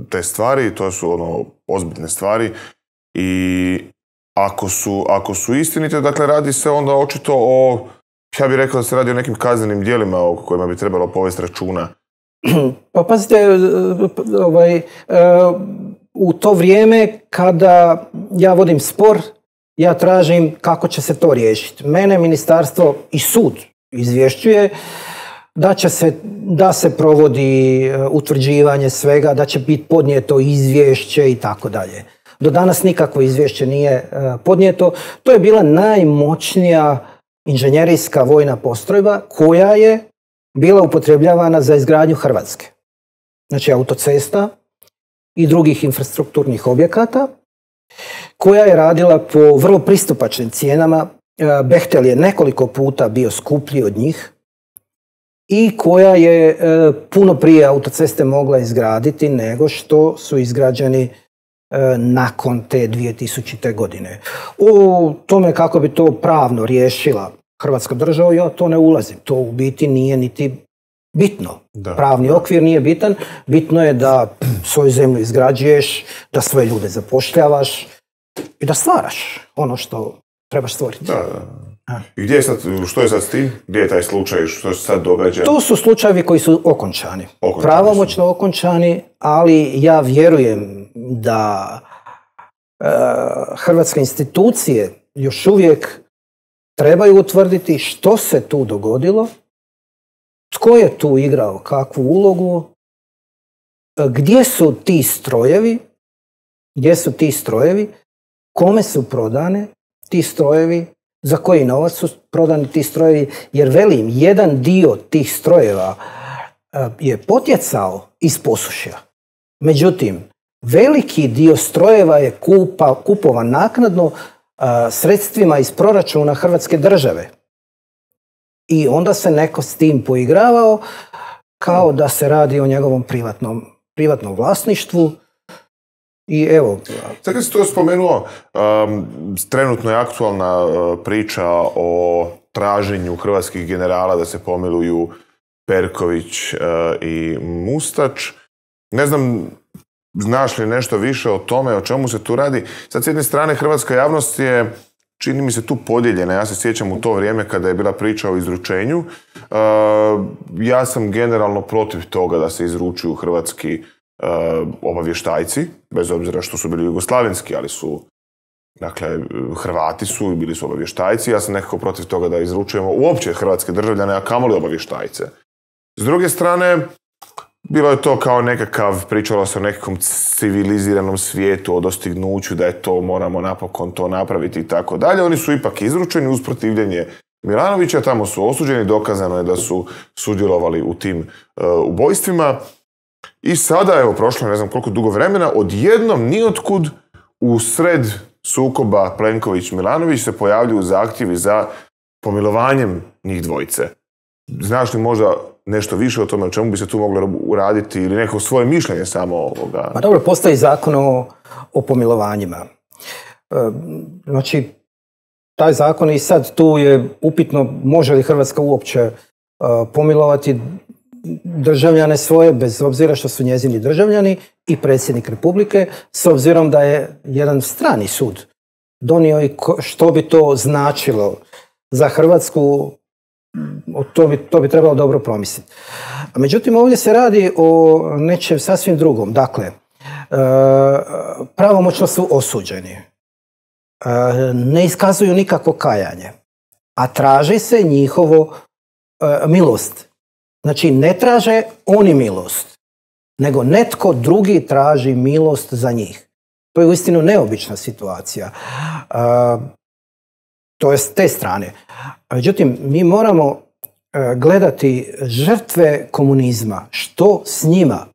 te stvari, to su ozbiljne stvari i ako su istinite, dakle radi se onda očito ja bih rekao da se radi o nekim kaznenim djelima o kojima bi trebalo povesti računa. Pa pazite, u to vrijeme kada ja vodim spor, ja tražim kako će se to riješiti. Mene ministarstvo i sud izvješćuje da se provodi utvrđivanje svega, da će biti podnijeto izvješće i tako dalje. Do danas nikakvo izvješće nije podnijeto. To je bila najmoćnija inženjerijska vojna postrojba koja je bila upotrebljavana za izgradnju Hrvatske. Znači autocesta i drugih infrastrukturnih objekata, koja je radila po vrlo pristupačnim cijenama. Bechtel je nekoliko puta bio skuplji od njih i koja je puno prije autoceste mogla izgraditi nego što su izgrađeni nakon te 2000. godine. O tome kako bi to pravno riješila Hrvatska država, ja to ne ulazim. To u biti nije niti bitno. Pravni okvir nije bitan. Bitno je da svoju zemlju izgrađuješ, da svoje ljude zapošljavaš i da stvaraš ono što trebaš stvoriti. I što je sad s tim? Gdje je taj slučaj? Što se sad događa? To su slučajevi koji su okončani. Pravomoćno okončani, ali ja vjerujem da hrvatske institucije još uvijek trebaju utvrditi što se tu dogodilo, tko je tu igrao kakvu ulogu, gdje su ti strojevi, kome su prodane ti strojevi, za koji novac su prodani ti strojevi, jer velim, jedan dio tih strojeva je potjecao iz Posušja. Međutim, veliki dio strojeva je kupovan naknadno sredstvima iz proračuna Hrvatske države. I onda se neko s tim poigravao kao da se radi o njegovom privatnom vlasništvu. I evo. Sad kad si to spomenuo, trenutno je aktualna priča o traženju hrvatskih generala da se pomiluju Perković i Mustač. Ne znam, znaš li nešto više o tome, o čemu se tu radi? Sad, s jedne strane, hrvatska javnost je, čini mi se, tu podijeljena. Ja se sjećam u to vrijeme kada je bila priča o izručenju. Ja sam generalno protiv toga da se izručuju hrvatski obavještajci, bez obzira što su bili jugoslavenski, ali su, dakle, Hrvati su i bili su obavještajci. Ja sam nekako protiv toga da izručujemo uopće hrvatske državljane, a kamoli obavještajce. S druge strane, bilo je to kao pričalo se o nekakvom civiliziranom svijetu, o dostignuću, da je to, moramo napokon to napraviti i tako dalje. Oni su ipak izručeni uz protivljenje Milanovića, tamo su osuđeni, dokazano je da su sudjelovali u tim ubojstvima. I sada, evo, prošlo ne znam koliko dugo vremena, odjednom nijotkud u sred sukoba Plenković-Milanović se pojavljuju zahtjevi za pomilovanjem njih dvojice. Znaš li možda nešto više o tome, o čemu bi se tu moglo uraditi ili neko svoje mišljenje samo ovoga? Pa dobro, postoji zakon o pomilovanjima. Znači, taj zakon i sad tu je upitno može li Hrvatska uopće pomilovati državljane svoje, bez obzira što su njezini državljani, i predsjednik Republike, s obzirom da je jedan strani sud donio i što bi to značilo za Hrvatsku, to bi trebalo dobro promisliti. Međutim, ovdje se radi o nečem sasvim drugom. Dakle, pravomoćno su osuđeni. Ne iskazuju nikakvo kajanje, a traži se njihovo milost. Znači, ne traže oni milost, nego netko drugi traži milost za njih. To je uistinu neobična situacija. To je s te strane. Međutim, mi moramo gledati žrtve komunizma. Što s njima?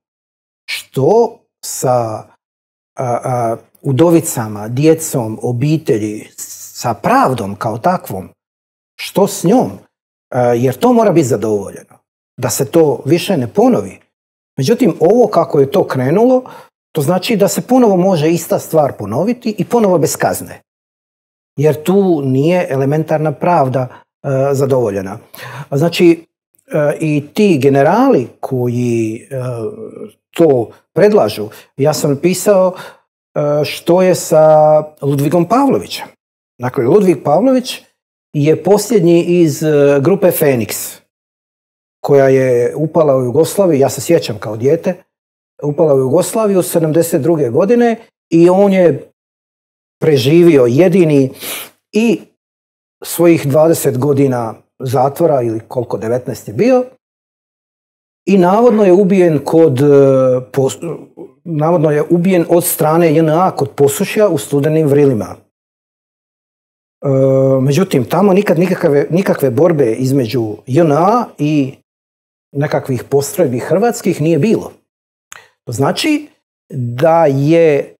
Što sa udovicama, djecom, obitelji, sa pravdom kao takvom? Što s njom? Jer to mora biti zadovoljeno. Da se to više ne ponovi. Međutim, ovo kako je to krenulo, to znači da se ponovo može ista stvar ponoviti i ponovo bez kazne. Jer tu nije elementarna pravda zadovoljena. Znači, i ti generali koji to predlažu, ja sam pisao što je sa Ludvigom Pavlovićem. Dakle, Ludvig Pavlović je posljednji iz grupe Feniks, koja je upala u Jugoslaviju, ja se sjećam kao dijete, upala u Jugoslaviju 1972. godine i on je preživio jedini i svojih 20 godina zatvora, ili koliko, 19 je bio, i navodno je ubijen od strane JNA kod Posušja u Studenim Vrilima. Međutim, tamo nikad nikakve borbe između JNA i nekakvih postrojbi hrvatskih nije bilo. To znači da je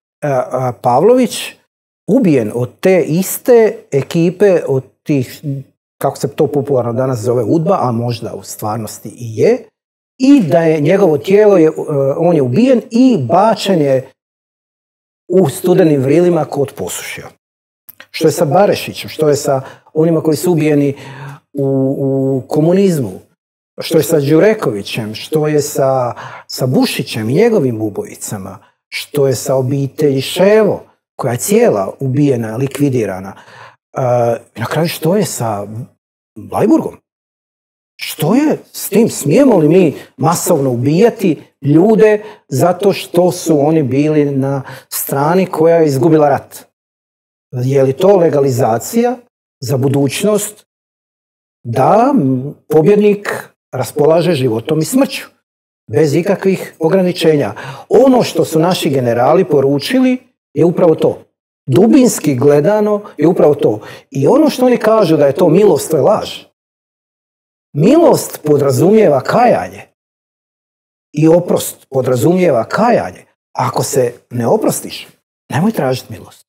Pavlović ubijen od te iste ekipe, od tih, kako se to popularno danas zove, UDBA, a možda u stvarnosti i je, i da je njegovo tijelo, on je ubijen i bačen je u Studenim Vrilima kod Posušja. Što je sa Barešićem, što je sa onima koji su ubijeni u komunizmu, što je sa Đurekovićem, što je sa Bušićem i njegovim ubojicama, što je sa obitelji Ševo, koja je cijela ubijena, likvidirana. Na kraju što je sa Bleiburgom? Što je s tim? Smijemo li mi masovno ubijati ljude zato što su oni bili na strani koja je izgubila rat? Je li to legalizacija za budućnost da pobjednik raspolaže životom i smrću, bez ikakvih ograničenja? Ono što su naši generali poručili je upravo to. Dubinski gledano je upravo to. I ono što oni kažu da je to milost, to je laž. Milost podrazumijeva kajanje. I oprost podrazumijeva kajanje. Ako se ne oprostiš, nemoj tražiti milost.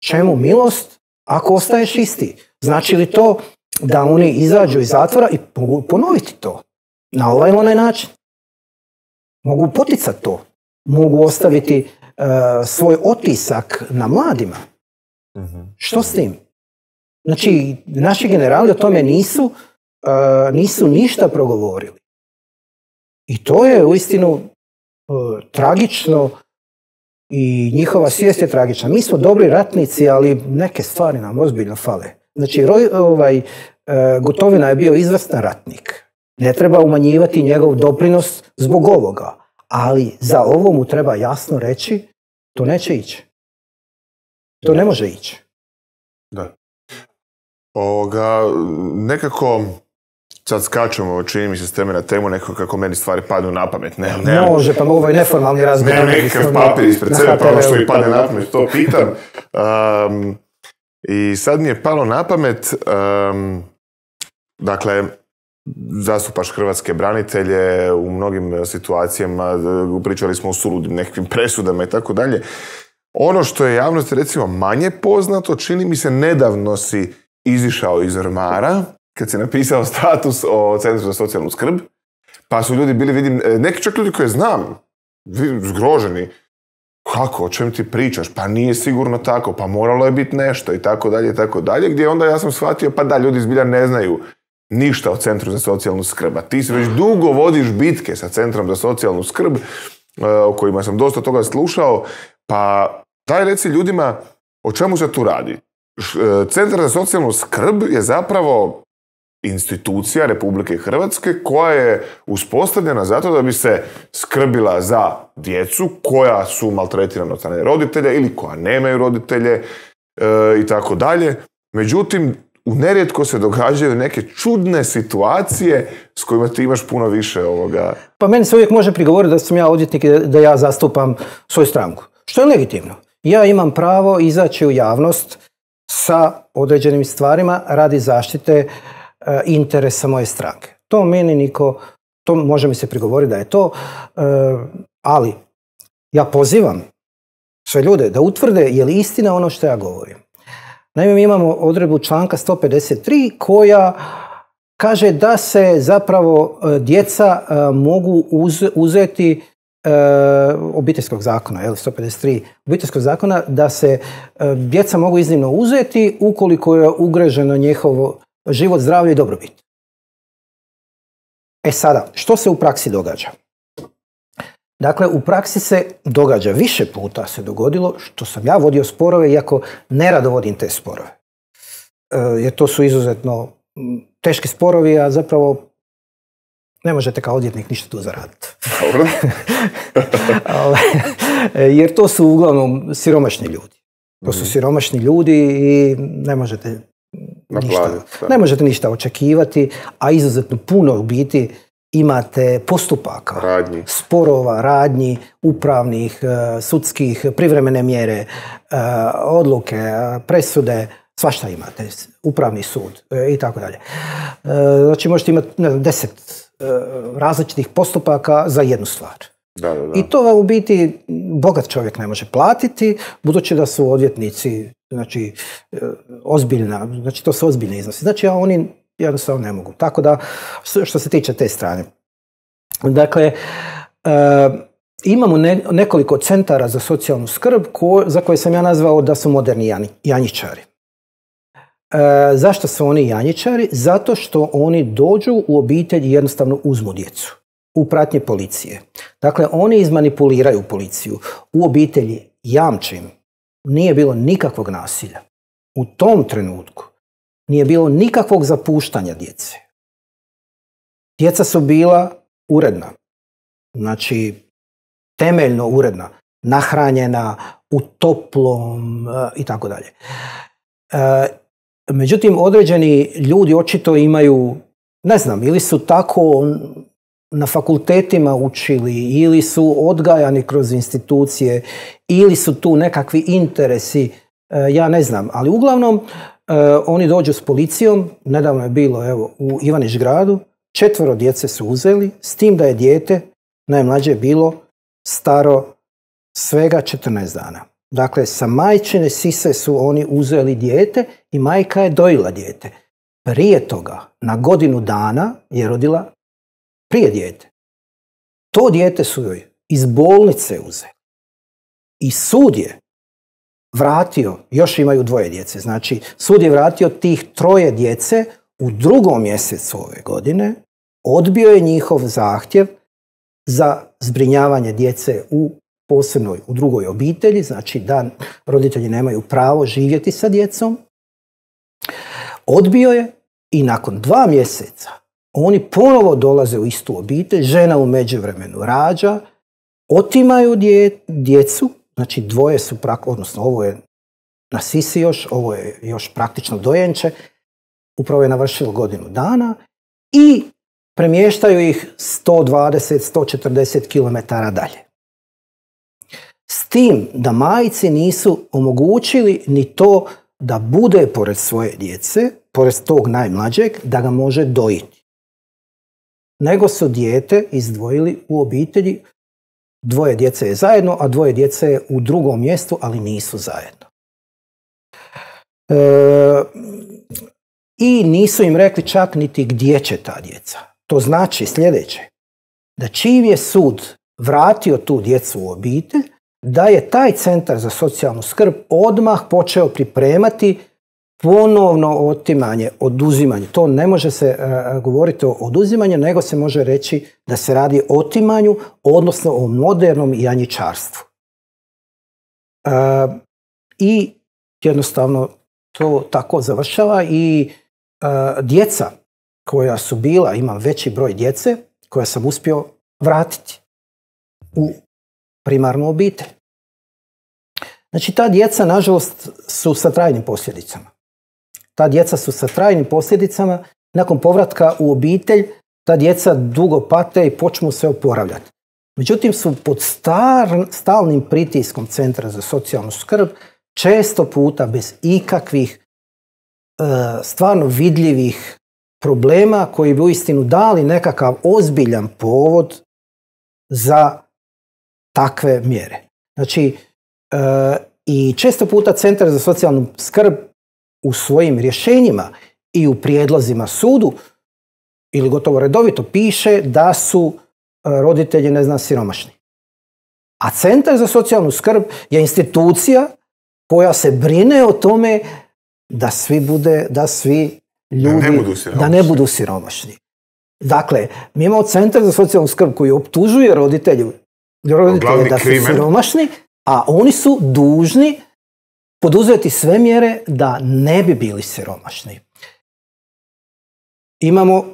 Čemu milost ako ostaješ isti? Znači li to da oni izađu iz zatvora i mogu ponoviti to na ovaj ili onaj način? Mogu poticati to. Mogu ostaviti svoj otisak na mladima. Što s tim? Znači, naši generali o tome nisu ništa progovorili. I to je uistinu tragično i njihova svijest je tragična. Mi smo dobri ratnici, ali neke stvari nam ozbiljno fale. Znači, Gotovina je bio izvrstan ratnik. Ne treba umanjivati njegov doprinos zbog ovoga. Ali za ovo mu treba jasno reći, to neće ići. To ne može ići. Da. Nekako, sad skačemo, čini mi se s teme na temu, nekako kako meni stvari padnu na pamet. Može, pa ovo je neformalni razgovor. Nemam nekakav papir ispred sebe, pa ono što mi padne na pamet, to pitam. I sad mi je palo na pamet, dakle, zastupaš hrvatske branitelje u mnogim situacijama, pričali smo o suludim nekakvim presudama i tako dalje. Ono što je javnosti recimo manje poznato, čini mi se nedavno si izišao iz ormara, kad si napisao status o Centru za socijalnu skrb, pa su ljudi bili, vidim, neki čak ljudi koje znam, zgroženi. Kako, o čem ti pričaš? Pa nije sigurno tako, pa moralo je biti nešto i tako dalje, gdje onda ja sam shvatio, pa da, ljudi zbilja ne znaju ništa o Centru za socijalnu skrb. A ti se već dugo vodiš bitke sa Centrom za socijalnu skrb, o kojima sam dosta toga slušao, pa daj reci ljudima o čemu se tu radi. Centar za socijalnu skrb je zapravo institucija Republike Hrvatske koja je uspostavljena zato da bi se skrbila za djecu koja su maltretirana od strane roditelja ili koja nemaju roditelje i tako dalje. Međutim, nerijetko se događaju neke čudne situacije s kojima ti imaš puno više ovoga. Pa meni se uvijek može prigovoriti da sam ja odvjetnik i da ja zastupam svoju stranku. Što je legitimno. Ja imam pravo izaći u javnost sa određenim stvarima radi zaštite interesa moje stranke. To meni niko, to može mi se prigovoriti da je to, ali ja pozivam sve ljude da utvrde je li istina ono što ja govorim. Naime, mi imamo odredbu članka 153 koja kaže da se zapravo djeca mogu uzeti obiteljskog zakona, 153 obiteljskog zakona, da se djeca mogu iznimno uzeti ukoliko je ugroženo njihovo život, zdravlje i dobrobit. E sada, što se u praksi događa? Dakle, u praksi se događa, više puta se dogodilo, što sam ja vodio sporove, iako nerado vodim te sporove. Jer to su izuzetno teški sporovi, a zapravo ne možete kao odvjetnik ništa tu zaraditi. Dobro. Jer to su uglavnom siromašni ljudi. To su siromašni ljudi i ne možete ništa očekivati, a izuzetno puno u biti imate postupaka, sporova, radnji, upravnih, sudskih, privremene mjere, odluke, presude, svašta imate, upravni sud i tako dalje. Znači možete imati 10 različitih postupaka za jednu stvar. Da. I to vam u biti bogat čovjek ne može platiti, budući da su odvjetnici, znači, znači to su ozbiljne iznosi. Znači oni jednostavno ne mogu. Tako da, što se tiče te strane. Dakle, imamo nekoliko centara za socijalnu skrb za koje sam ja nazvao da su moderni janjičari. Zašto su oni janjičari? Zato što oni dođu u obitelj i jednostavno uzmu djecu u pratnji policije. Dakle, oni izmanipuliraju policiju. U obitelji, jamčim, nije bilo nikakvog nasilja. u tom trenutku nije bilo nikakvog zapuštanja djece. Djeca su bila uredna, znači temeljno uredna, nahranjena u toplom i tako dalje. Međutim, određeni ljudi očito imaju, ne znam, ili su tako na fakultetima učili, ili su odgajani kroz institucije, ili su tu nekakvi interesi, ja ne znam, ali uglavnom oni dođu s policijom, nedavno je bilo evo, u Ivanić Gradu, 4 djece su uzeli, s tim da je dijete najmlađe bilo staro svega 14 dana. Dakle, sa majčine sise su oni uzeli dijete i majka je dojila dijete. Prije toga, na godinu dana je rodila prije dijete. To dijete su joj iz bolnice uzeli. I sud je vratio, još imaju 2 djece, znači sud je vratio tih 3 djece u 2. mjesecu ove godine, odbio je njihov zahtjev za zbrinjavanje djece u posebnoj, u drugoj obitelji, znači da roditelji nemaju pravo živjeti sa djecom. Odbio je i nakon 2 mjeseca oni ponovo dolaze u istu obitelj, žena u međuvremenu rađa, otimaju djecu, znači 2 su, odnosno ovo je na sisi još, ovo je još praktično dojenče, upravo je navršilo godinu dana i premještaju ih 120-140 km dalje. S tim da majci nisu omogućili ni to da bude pored svoje djece, pored tog najmlađeg, da ga može dojiti. Nego su dijete izdvojili u obitelji, 2 djece je zajedno, a 2 djece je u drugom mjestu, ali nisu zajedno. I nisu im rekli čak niti gdje će ta djeca. To znači sljedeće, da čim je sud vratio tu djecu u obitelj, da je taj centar za socijalnu skrb odmah počeo pripremati ponovno otimanje, oduzimanje. To ne može se govoriti o oduzimanju, nego se može reći da se radi o otimanju, odnosno o modernom janjičarstvu. I jednostavno to tako završava i djeca koja su bila, imam veći broj djece, koja sam uspio vratiti u primarnu obitelj. Znači, ta djeca, nažalost, su sa trajnim posljedicama. Ta djeca su sa trajnim posljedicama. Nakon povratka u obitelj, ta djeca dugo pate i počnu se oporavljati. Međutim, su pod stalnim pritiskom Centra za socijalnu skrb, često puta bez ikakvih stvarno vidljivih problema koji bi uistinu dali nekakav ozbiljan povod za takve mjere. Znači, i često puta Centar za socijalnu skrb u svojim rješenjima i u prijedlozima sudu ili gotovo redovito piše da su roditelji, ne znam, siromašni. A Centar za socijalnu skrb je institucija koja se brine o tome da svi ljudi da ne budu siromašni. Dakle, mi imamo Centar za socijalnu skrb koji optužuje roditelje da su siromašni, a oni su dužni poduzeti sve mjere da ne bi bili siromašni. Imamo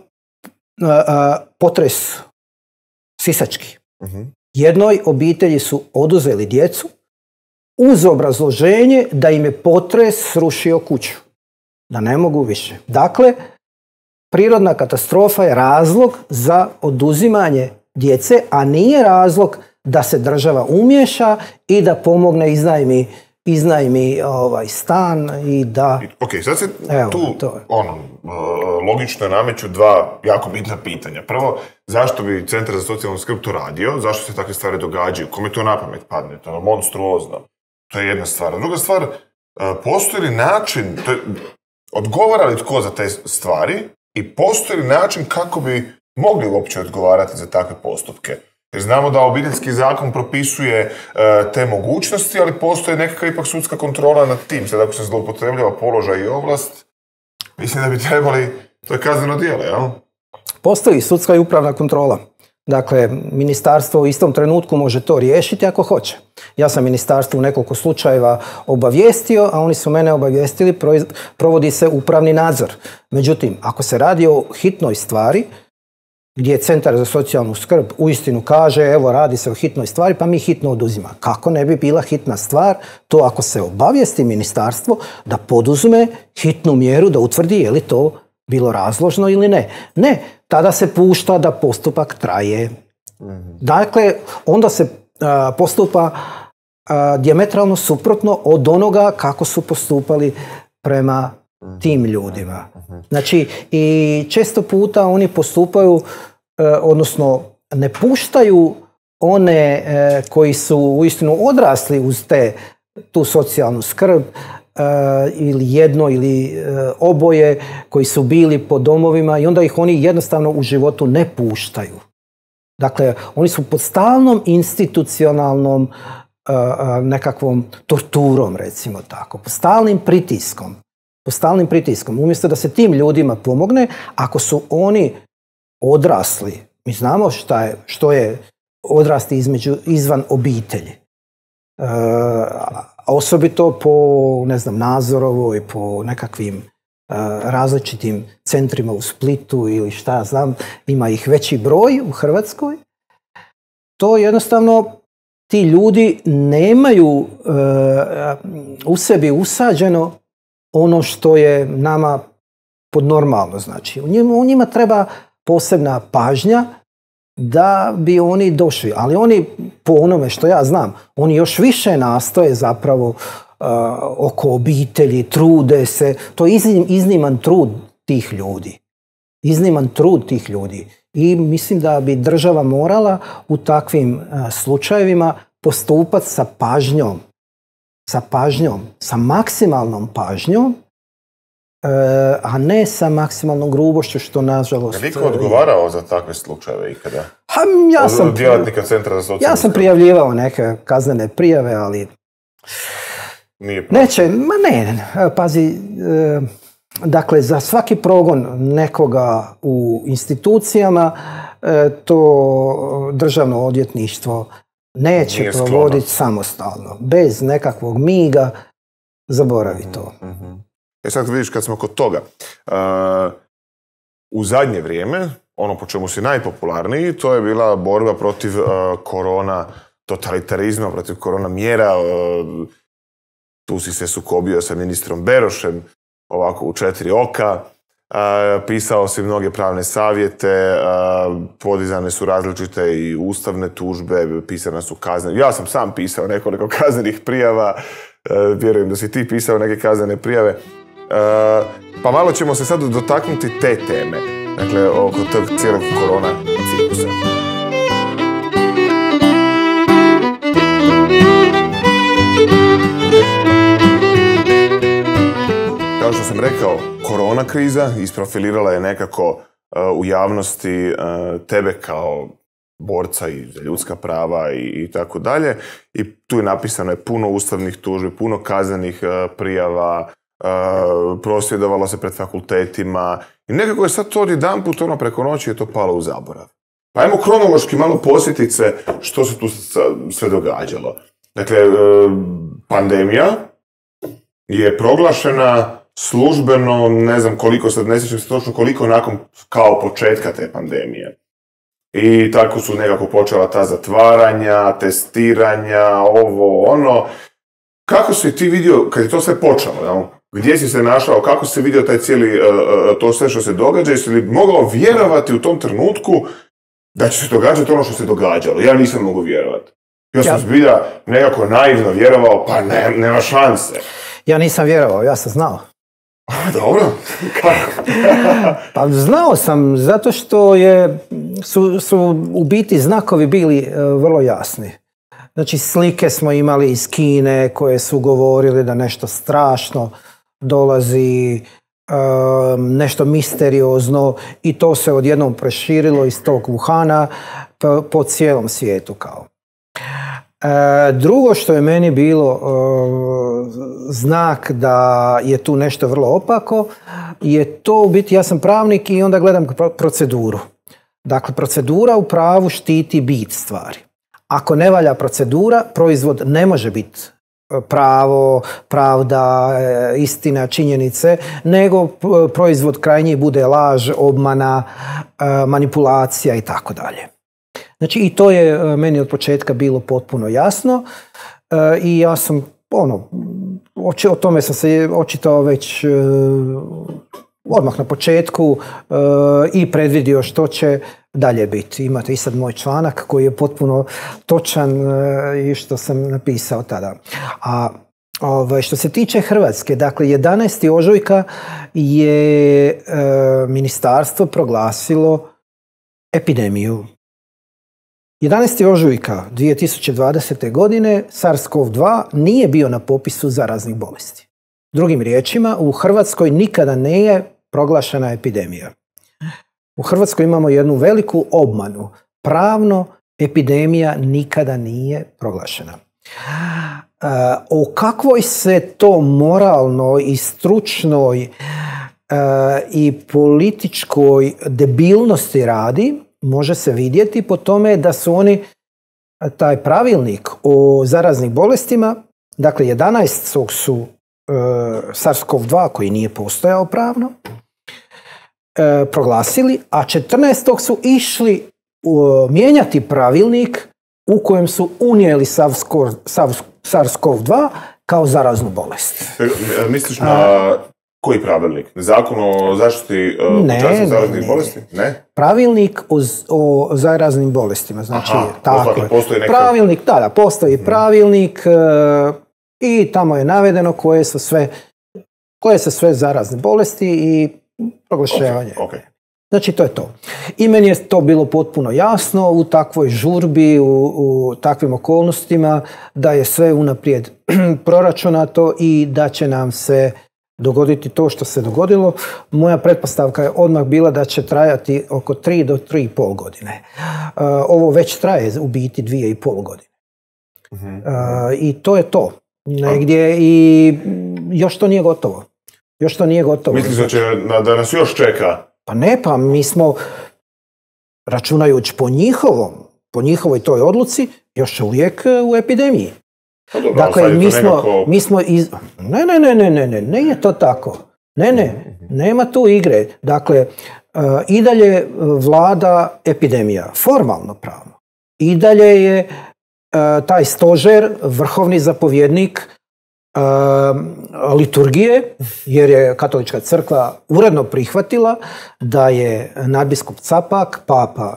potres sisački. Jednoj obitelji su oduzeli djecu uz obrazloženje da im je potres srušio kuću. Da ne mogu više. Dakle, prirodna katastrofa je razlog za oduzimanje djece, a nije razlog da se država umiješa i da pomogne iznajmi stan i da... Ok, sad se logično nameću 2 jako bitna pitanja. Prvo, zašto bi Centar za socijalnu skrb to radio? Zašto se takve stvari događaju? Kome to na pamet padne? To je monstruozno. To je jedna stvar. Druga stvar, postoji li način, odgovara li tko za te stvari i postoji li način kako bi mogli uopće odgovarati za takve postupke? Jer znamo da obiteljski zakon propisuje te mogućnosti, ali postoji nekakva ipak sudska kontrola nad tim. Sad ako se zloupotrebljava položaj i ovlast, mislim da bi trebali, to je kazneno djelo, jel? Postoji sudska i upravna kontrola. Dakle, ministarstvo u istom trenutku može to riješiti ako hoće. Ja sam ministarstvo u nekoliko slučajeva obavijestio, a oni su mene obavijestili, provodi se upravni nadzor. Međutim, ako se radi o hitnoj stvari, gdje Centar za socijalnu skrb uistinu kaže, evo radi se o hitnoj stvari, pa mi hitno oduzima. Kako ne bi bila hitna stvar to ako se obavijesti ministarstvo da poduzme hitnu mjeru, da utvrdi je li to bilo razložno ili ne. Ne, tada se pušta da postupak traje. Dakle, onda se postupa dijametralno suprotno od onoga kako su postupali prema tim ljudima. Znači, i često puta oni postupaju, odnosno ne puštaju one koji su uistinu odrasli uz tu socijalnu skrb, ili jedno ili oboje koji su bili po domovima, i onda ih oni jednostavno u životu ne puštaju. Dakle, oni su pod stalnom institucionalnom nekakvom torturom, recimo tako, pod stalnim pritiskom. Umjesto da se tim ljudima pomogne, ako su oni odrasli, mi znamo što je odrasti izvan obitelji. Osobito po, Nazorovoj, po nekakvim različitim centrima u Splitu ili šta ja znam, ima ih veći broj u Hrvatskoj. To jednostavno ti ljudi nemaju u sebi usađeno ono što je nama podnormalno. Znači, u njima treba posebna pažnja da bi oni došli. Ali oni, po onome što ja znam, oni još više nastoje zapravo oko obitelji, trude se. To je izniman trud tih ljudi. I mislim da bi država morala u takvim slučajevima postupati sa pažnjom, sa maksimalnom pažnjom, a ne sa maksimalnom grubošću, što nažalost... Je li niko odgovarao za takve slučajeve ikada? Od djelatnika Centra za socijalnu skrb? Ja sam prijavljivao neke kaznene prijave, ali... Nije prošlo. Pazi, dakle, za svaki progon nekoga u institucijama, to državno odvjetništvo neće provoditi samostalno. Bez nekakvog miga, zaboravi to. Sad vidiš, kad smo kod toga, u zadnje vrijeme, ono po čemu si najpopularniji, to je bila borba protiv korona totalitarizma, protiv korona mjera. Tu si se sukobio sa ministrom Berošem, ovako u 4 oka. Pisao si mnoge pravne savjete, podizane su različite i ustavne tužbe, pisane su kaznene. Ja sam sam pisao nekoliko kaznenih prijava, vjerujem da si ti pisao neke kaznene prijave. Pa malo ćemo se sad dotaknuti te teme, dakle, oko tog cijelog korona ciklusa. Kao što sam rekao, korona kriza isprofilirala je nekako u javnosti tebe kao borca i za ljudska prava i tako dalje. I tu je napisano puno ustavnih tužbi, puno kaznenih prijava, prosvjedovalo se pred fakultetima i nekako je sad to odjedanput preko noći je to palo u zaborav. Pa ajmo kronološki malo posjetiti se što se tu sve događalo. Dakle, pandemija je proglašena službeno, ne znam koliko, sad ne sjećam se točno koliko nakon kao početka te pandemije. I tako su nekako počela ta zatvaranja, testiranja, ovo, ono. Kako si ti vidio, kad je to sve počelo, jel? Gdje si se našao, kako si vidio taj cijeli, to sve što se događa, jesi li mogao vjerovati u tom trenutku da će se događati ono što se događalo? Ja nisam mogu vjerovati. Ja sam zbilja nekako naivno vjerovao, pa nema šanse. Ja nisam vjerovao, ja sam znao. Dobro, kako? Pa znao sam, zato što su u biti znakovi bili vrlo jasni. Znači, slike smo imali iz Kine koje su govorili da nešto strašno dolazi, nešto misteriozno, i to se odjednom preširilo iz tog Wuhana po cijelom svijetu kao. Drugo što je meni bilo znak da je tu nešto vrlo opako je to u biti, ja sam pravnik i onda gledam proceduru. Dakle, procedura u pravu štiti bit stvari. Ako ne valja procedura, proizvod ne može biti pravo, pravda, istina, činjenice, nego proizvod krajnji bude laž, obmana, manipulacija i tako dalje. Znači i to je meni od početka bilo potpuno jasno i ja sam o tome sam se očitao već odmah na početku i predvidio što će dalje biti. Imate i sad moj članak koji je potpuno točan i što sam napisao tada. A što se tiče Hrvatske, dakle 11. ožujka je ministarstvo proglasilo epidemiju. 11. ožujka 2020. godine SARS-CoV-2 nije bio na popisu zaraznih bolesti. Drugim riječima, u Hrvatskoj nikada nije proglašena epidemija. U Hrvatskoj imamo jednu veliku obmanu. Pravno epidemija nikada nije proglašena. O kakvoj se to moralnoj i stručnoj i političkoj debilnosti radi, može se vidjeti po tome da su oni taj pravilnik o zaraznim bolestima, dakle 11. su SARS-CoV-2 koji nije postojao pravno, proglasili, a 14. su išli mijenjati pravilnik u kojem su unijeli SARS-CoV-2 kao zaraznu bolest. Misliš na koji pravilnik? Zakon o zaštiti pučanstva zaraznih bolesti? Ne. Pravilnik o zaraznim bolestima. Znači, tako je. Postoji neka... Pravilnik, da, postoji pravilnik i tamo je navedeno koje su sve zarazne bolesti i proglašavanje. Okay. Znači, to je to. I meni je to bilo potpuno jasno u takvoj žurbi, u takvim okolnostima, da je sve unaprijed proračunato i da će nam se dogoditi to što se dogodilo. Moja pretpostavka je odmah bila da će trajati oko 3 do 3,5 godine. Ovo već traje u biti 2,5 godine. I to je to. Negdje i još to nije gotovo. Misliš da nas još čeka? Pa ne, pa mi smo, računajući po njihovoj toj odluci, još uvijek u epidemiji. Dobro, dakle, mi smo Ne je to tako. Nema tu igre. Dakle, i dalje vlada epidemija, formalno pravno. I dalje je taj stožer, vrhovni zapovjednik liturgije, jer je Katolička crkva uredno prihvatila da je nadbiskup Capak, papa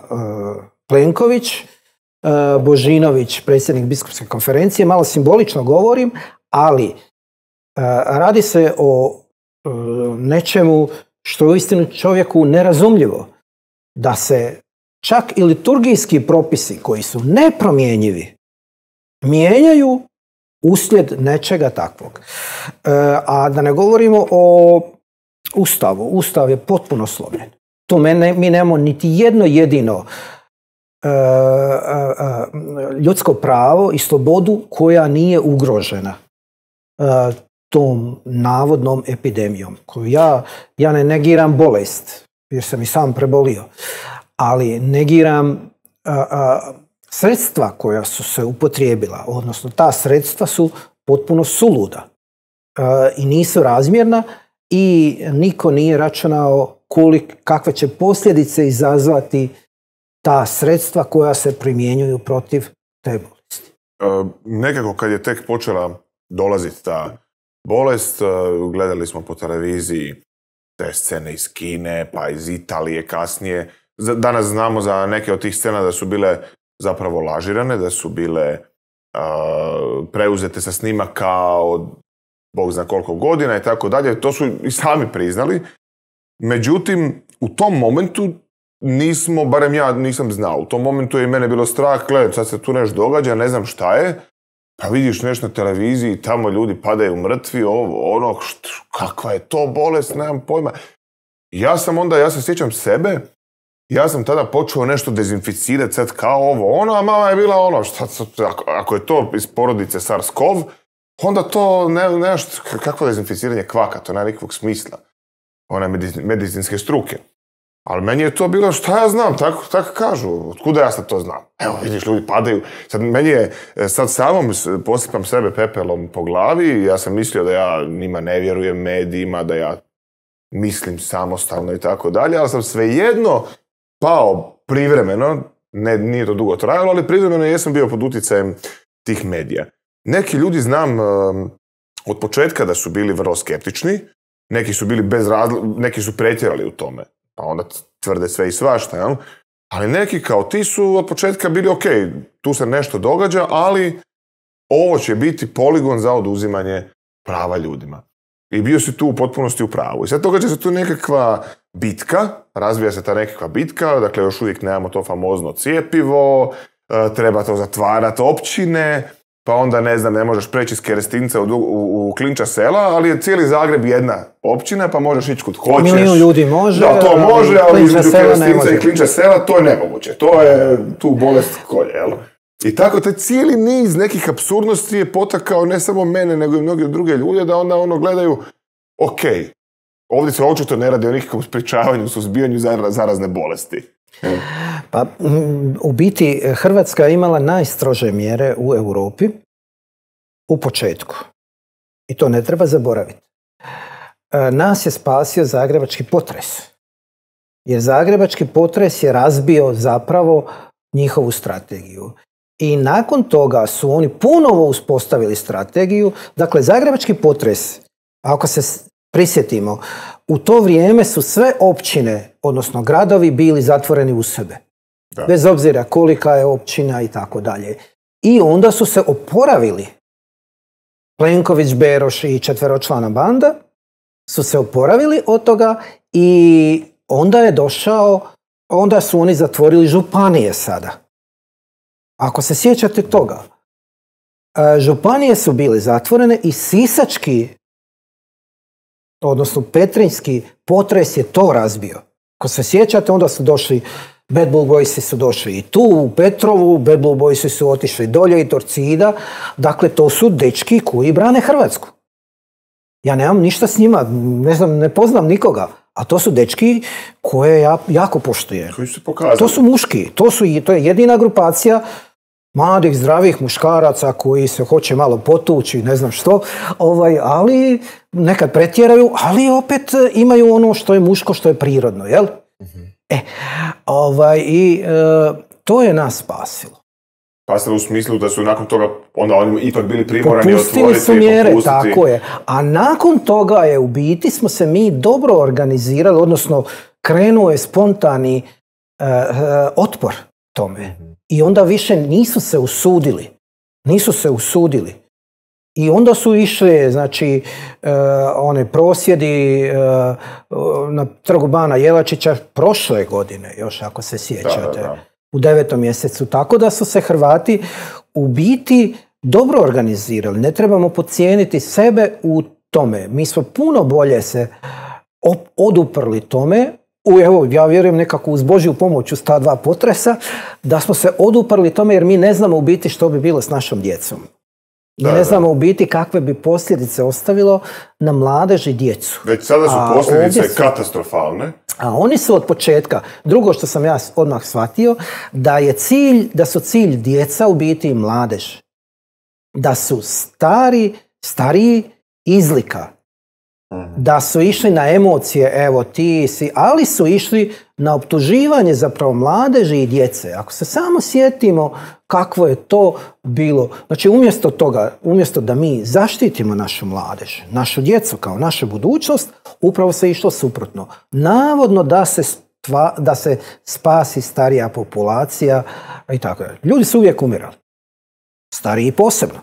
Plenković, Božinović, predsjednik biskupske konferencije, malo simbolično govorim, ali radi se o nečemu što je uistinu čovjeku nerazumljivo. Da se čak i liturgijski propisi koji su nepromjenjivi mijenjaju uslijed nečega takvog. A da ne govorimo o Ustavu. Ustav je potpuno slomljen. Tu mi nemamo niti jedno jedino ljudsko pravo i slobodu koja nije ugrožena tom navodnom epidemijom. Koju ja ne negiram bolest, jer sam i sam prebolio, ali negiram sredstva koja su se upotrijebila, odnosno ta sredstva su potpuno suluda i nisu razmjerna i niko nije računao kakve će posljedice izazvati ta sredstva koja se primjenjuju protiv te bolesti. Nekako kad je tek počela dolaziti ta bolest, gledali smo po televiziji te scene iz Kine, pa iz Italije kasnije. Danas znamo za neke od tih scena da su bile zapravo lažirane, da su bile preuzete sa snimaka od Bog zna koliko godina i tako dalje. To su i sami priznali. Međutim, u tom momentu nismo, barem ja nisam znao, u tom momentu je i mene bilo strah, gledaj, sad se tu nešto događa, ne znam šta je, pa vidiš nešto na televiziji, tamo ljudi padaju mrtvi, kakva je to bolest, nemam pojma. Ja se sjećam sebe, ja sam tada počeo nešto dezinficirati, sad kao a mama je bila ako je to iz porodice SARS-CoV, onda to kakvo dezinficiranje kvaka, to nema nikakvog smisla. Ona je medicinske struke. Ali meni je to bilo, šta ja znam, tako kažu, otkuda ja sad to znam? Evo, vidiš, ljudi padaju. Sad, meni je, sad samom posipam sebe pepelom po glavi i ja sam mislio da ja njima ne vjerujem, medijima, da ja mislim samostalno i tako dalje, ali sam svejedno pao privremeno, nije to dugo trajalo, ali privremeno jesam bio pod utjecajem tih medija. Neki ljudi znam od početka da su bili vrlo skeptični, neki su bili neki su pretjerali u tome, pa onda tvrde sve i svašta, jel? Ali neki kao ti su od početka bili ok, tu se nešto događa, ali ovo će biti poligon za oduzimanje prava ljudima. I bio si tu u potpunosti u pravu. I sad događa se tu nekakva bitka, razvija se ta nekakva bitka, dakle još uvijek nemamo to famozno cjepivo, treba to zatvarati općine, pa onda ne možeš preći iz Kerestinca u Klinča sela, ali je cijeli Zagreb jedna općina, pa možeš ići kud hoćeš. Milijun ljudi može. Da, to može, ali između Kerestinca i Klinča sela to je nemoguće. To je tu bolest kolje, jel? I tako taj cijeli niz nekih apsurdnosti je potakao ne samo mene, nego i mnoge druge ljude da onda gledaju, ok, ovdje se očito ne radi o nikakvom sprječavanju, suzbijanju zarazne bolesti. Pa, u biti, Hrvatska je imala najstrože mjere u Europi u početku. I to ne treba zaboraviti. Nas je spasio zagrebački potres. Jer zagrebački potres je razbio zapravo njihovu strategiju. I nakon toga su oni ponovo uspostavili strategiju. Dakle, zagrebački potres, ako se prisjetimo, u to vrijeme su sve općine, odnosno gradovi, bili zatvoreni u sebe. Da. Bez obzira kolika je općina i tako dalje. I onda su se oporavili. Plenković, Beroš i četveročlana banda su se oporavili od toga i onda su oni zatvorili županije sada. Ako se sjećate toga, županije su bile zatvorene i sisački, odnosno petrinjski potres je to razbio. Ako se sjećate, onda su došli, Bad Blue Boysi su došli i tu u Petrovu, Bad Blue Boysi su otišli dolje i Torcida. Dakle, to su dečki koji brane Hrvatsku. Ja nemam ništa s njima, ne poznam nikoga, a to su dečki koje ja jako poštujem. Koji su pokazali? To su muški, to je jedina grupacija mladih, zdravih muškaraca koji se hoće malo potući, ne znam što, ali nekad pretjeraju, ali opet imaju ono što je muško, što je prirodno, jel? Mm-hmm. To je nas spasilo. Spasilo u smislu da su nakon toga onda oni ipak bili primorani otvoriti. Popustili su mjere, tako je. A nakon toga je u biti smo se mi dobro organizirali, odnosno krenuo je spontani otpor tome. I onda više nisu se usudili. I onda su išli, znači, one prosvjedi na trgu Bana Jelačića prošle godine, još ako se sjećate, da. U 9. mjesecu. Tako da su se Hrvati u biti dobro organizirali. Ne trebamo podcijeniti sebe u tome. Mi smo puno bolje se oduprli tome. Evo, ja vjerujem nekako uz Božju pomoć uz ta dva potresa, da smo se oduprli tome jer mi ne znamo u biti što bi bilo s našom djecom. Mi ne znamo u biti kakve bi posljedice ostavilo na mladež i djecu. Već sada su posljedice katastrofalne. A oni su od početka, drugo što sam ja odmah shvatio, da su cilj djeca u biti i mladež. Da su stariji izlika. Da su išli na emocije, evo ti si, ali su išli na optuživanje zapravo mladeži i djece. Ako se samo sjetimo kakvo je to bilo, znači umjesto da mi zaštitimo našu mladež, našu djecu kao našu budućnost, upravo se išlo suprotno. Navodno da se spasi starija populacija i tako dalje. Ljudi su uvijek umirali. Stariji posebno.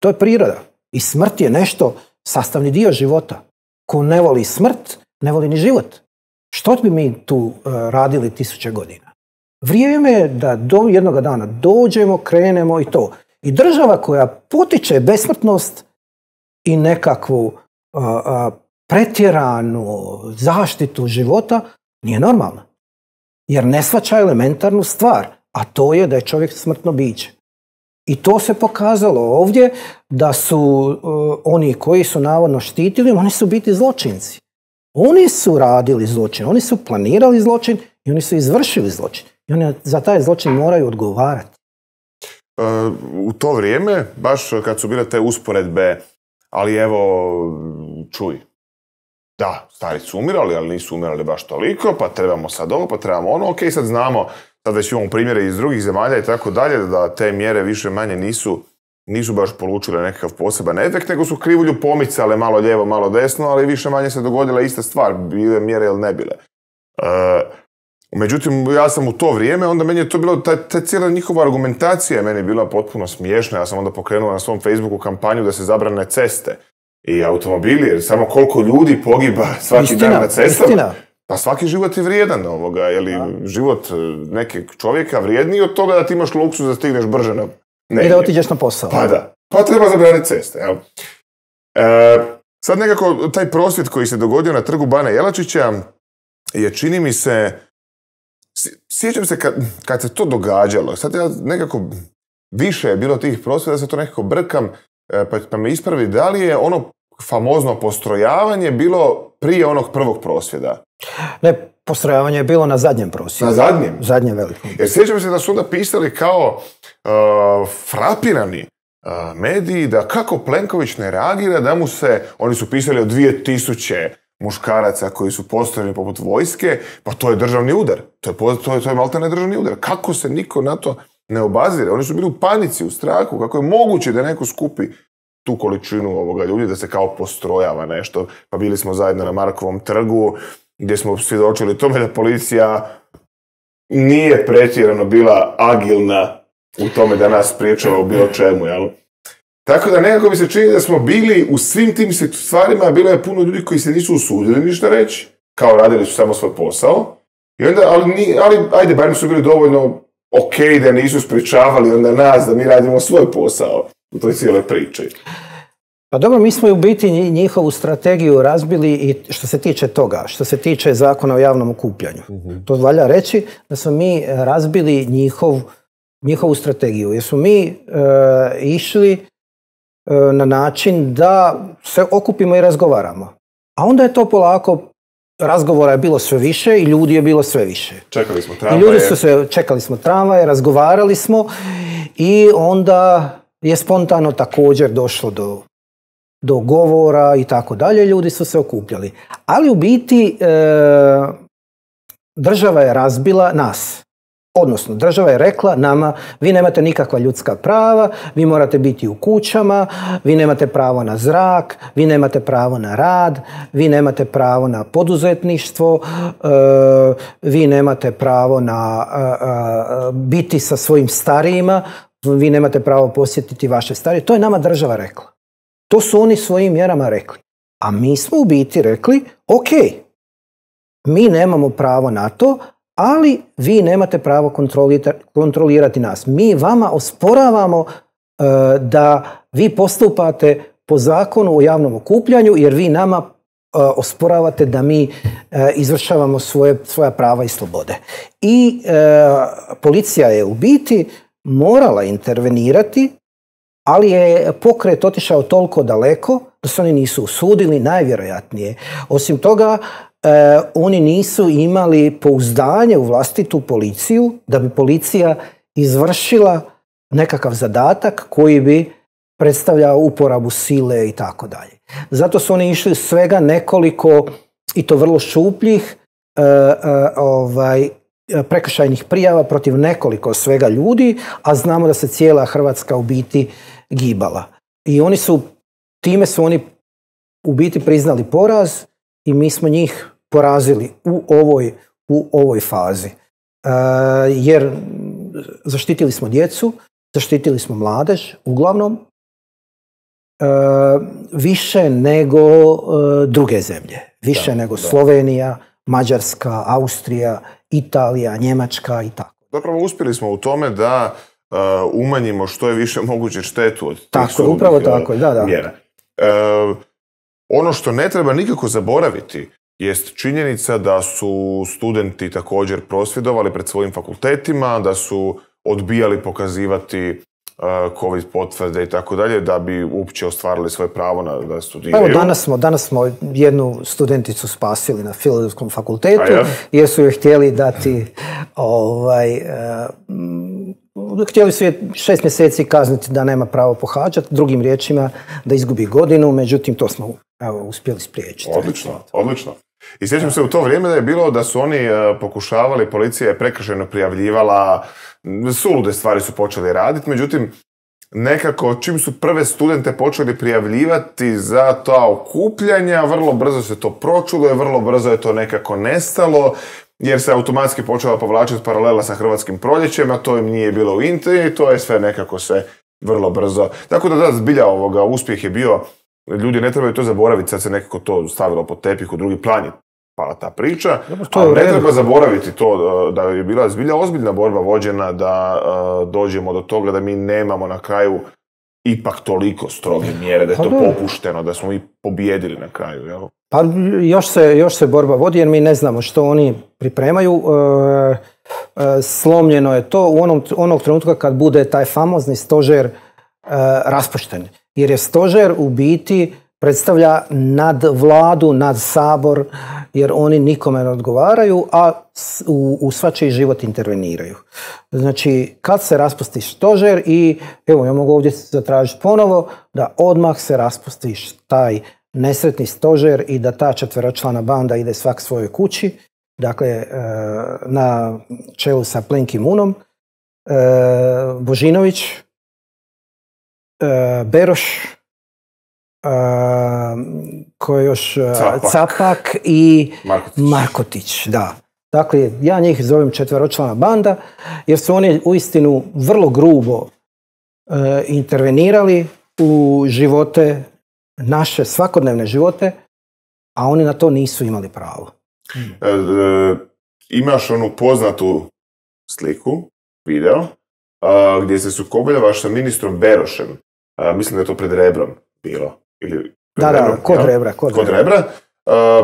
To je priroda. I smrt je nešto sastavni dio života. Ko ne voli smrt, ne voli ni život. Što bi mi tu radili 1000 godina? Vrijeme je da do jednoga dana dođemo, krenemo i to. I država koja potiče besmrtnost i nekakvu pretjeranu zaštitu života nije normalna. Jer ne shvaća elementarnu stvar, a to je da je čovjek smrtno biće. I to se pokazalo ovdje da su oni koji su navodno štitili, oni su biti zločinci. Oni su radili zločin, oni su planirali zločin i oni su izvršili zločin. I oni za taj zločin moraju odgovarati. U to vrijeme, baš kad su bile te usporedbe, ali evo, čuj, da, stari su umirali, ali nisu umirali baš toliko, pa trebamo sad ovo, pa trebamo ono, ok, sad znamo, sad već imamo primjere iz drugih zemalja i tako dalje, da te mjere više manje nisu baš polučile nekakav poseban efekt, nego su krivulju pomicale malo lijevo, malo desno, ali više manje se dogodila ista stvar, bile mjere ili ne bile. Međutim, ja sam u to vrijeme, onda meni je to bilo, ta cijela njihova argumentacija je meni bila potpuno smiješna. Ja sam onda pokrenuo na svom Facebooku kampanju da se zabrane ceste i automobili, jer samo koliko ljudi pogiba svaki dan na cestama. Istina. Pa svaki život je vrijedan ovoga, je li život nekog čovjeka vrijedniji od toga da ti imaš luksuz da stigneš brže na negdje. I da otiđeš na posao. Pa da. Pa treba zabraniti ceste. Jel? Sad nekako taj prosvjed koji se dogodio na trgu Bana Jelačića je, čini mi se, sjećam se kad se to događalo, sad ja nekako više je bilo tih prosvjeda, da se to nekako brkam, pa me ispravi, da li je ono famozno postrojavanje bilo prije onog prvog prosvjeda? Ne, postrojavanje je bilo na zadnjem prosvjedu. Na zadnjem? Zadnjem velikom. Jer sjećam se da su onda pisali kao frapirani mediji, da kako Plenković ne reagira, da mu se, oni su pisali o 2000 muškaraca koji su postrojeni poput vojske, pa to je državni udar. To je maltene državni udar. Kako se niko na to ne obazire? Oni su bili u panici, u strahu. Kako je moguće da neko skupi tu količinu ovoga ljudi, da se kao postrojava nešto? Pa bili smo zajedno na Markovom trgu, gdje smo svjedočili tome da policija nije pretjerano bila agilna u tome da nas spriječava u bilo čemu, jel? Tako da nekako mi se čini da smo bili u svim tim stvarima, bilo je puno ljudi koji se nisu usudili ništa reći, kao radili su samo svoj posao, i onda, ali ajde, barem su bili dovoljno ok da nisu sprečavali onda nas da mi radimo svoj posao u toj cijeloj priči. Pa dobro, mi smo u biti njihovu strategiju razbili i što se tiče toga, što se tiče zakona o javnom okupljanju. To valja reći da smo mi razbili njihovu strategiju, jer smo mi išli na način da se okupimo i razgovaramo. A onda je to polako, razgovora je bilo sve više i ljudi je bilo sve više. Čekali smo tramvaje. Čekali smo tramvaje, razgovarali smo i onda je spontano također došlo do govora i tako dalje. Ljudi su se okupljali. Ali u biti država je razbila nas. Odnosno, država je rekla nama, vi nemate nikakva ljudska prava, vi morate biti u kućama, vi nemate pravo na zrak, vi nemate pravo na rad, vi nemate pravo na poduzetništvo, vi nemate pravo na biti sa svojim starijima, vi nemate pravo posjetiti vaše starije. To je nama država rekla. To su oni svojim mjerama rekli. A mi smo u biti rekli, ok, mi nemamo pravo na to, ali vi nemate pravo kontrolirati nas. Mi vama osporavamo da vi postupate po zakonu o javnom okupljanju, jer vi nama osporavate da mi izvršavamo svoja prava i slobode. I policija je u biti morala intervenirati, ali je pokret otišao toliko daleko da se oni nisu usudili, najvjerojatnije. Osim toga, oni nisu imali pouzdanje u vlastitu policiju da bi policija izvršila nekakav zadatak koji bi predstavljao uporabu sile i tako dalje. Zato su oni išli svega nekoliko, i to vrlo šupljih, prekršajnih prijava protiv nekoliko svega ljudi, a znamo da se cijela Hrvatska u biti gibala. I time su oni u biti priznali poraz i mi smo njih porazili u ovoj fazi. Jer zaštitili smo djecu, zaštitili smo mladež, uglavnom, više nego druge zemlje. Više nego Slovenija, Mađarska, Austrija, Italija, Njemačka i tako. Zapravo uspjeli smo u tome da umanjimo što je više moguće štetu od tih sudobnih mjera. Ono što ne treba nikako zaboraviti jest činjenica da su studenti također prosvjedovali pred svojim fakultetima, da su odbijali pokazivati COVID potvrde i tako dalje, da bi uopće ostvarili svoje pravo da studiraju. Evo, danas smo jednu studenticu spasili na Filozofskom fakultetu, jer su joj htjeli dati htjeli su je 6 mjeseci kazniti da nema pravo pohađati, drugim riječima da izgubi godinu, međutim to smo uspjeli spriječiti. Odlično. I sjećam se u to vrijeme da je bilo da su oni pokušavali, policija je prekršajno prijavljivala, sulude stvari su počeli raditi, međutim nekako čim su prve studente počeli prijavljivati za ta okupljanja, vrlo brzo se to pročulo i vrlo brzo je to nekako nestalo, jer se automatski počela povlačiti paralela sa Hrvatskim proljećem, a to im nije bilo u interesu i to je sve nekako se vrlo brzo. Tako da zbilja uspjeh je bio, ljudi ne trebaju to zaboraviti, sad se nekako to stavilo pod tepih, u drugi plan je pala ta priča, ali ne treba zaboraviti to da je bila zbilja ozbiljna borba vođena da dođemo do toga da mi nemamo na kraju ipak toliko stroge mjere, da je to popušteno, da smo mi pobijedili na kraju, jel? Pa još se borba vodi jer mi ne znamo što oni pripremaju. Slomljeno je to onog trenutka kad bude taj famozni stožer raspušten. Jer je stožer u biti predstavlja nad vladu, nad sabor, jer oni nikome ne odgovaraju, a u svačiji život interveniraju. Znači, kad se raspusti stožer i, evo, ja mogu ovdje zatražiti ponovo, da odmah se raspusti taj nesretni stožer i da ta 4-člana banda ide svak svojoj kući, dakle, na čelu sa Plenkim Unom, Božinović, Beroš, koji još Capak i Markotić. Da. Dakle, ja njih zovem 4-člana banda, jer su oni uistinu vrlo grubo intervenirali u živote, naše svakodnevne živote, a oni na to nisu imali pravo. Imaš onu poznatu sliku, video, gdje se sukobljavaš sa ministrom Berošem. Mislim da je to pred Rebrom bilo. Kod Rebra.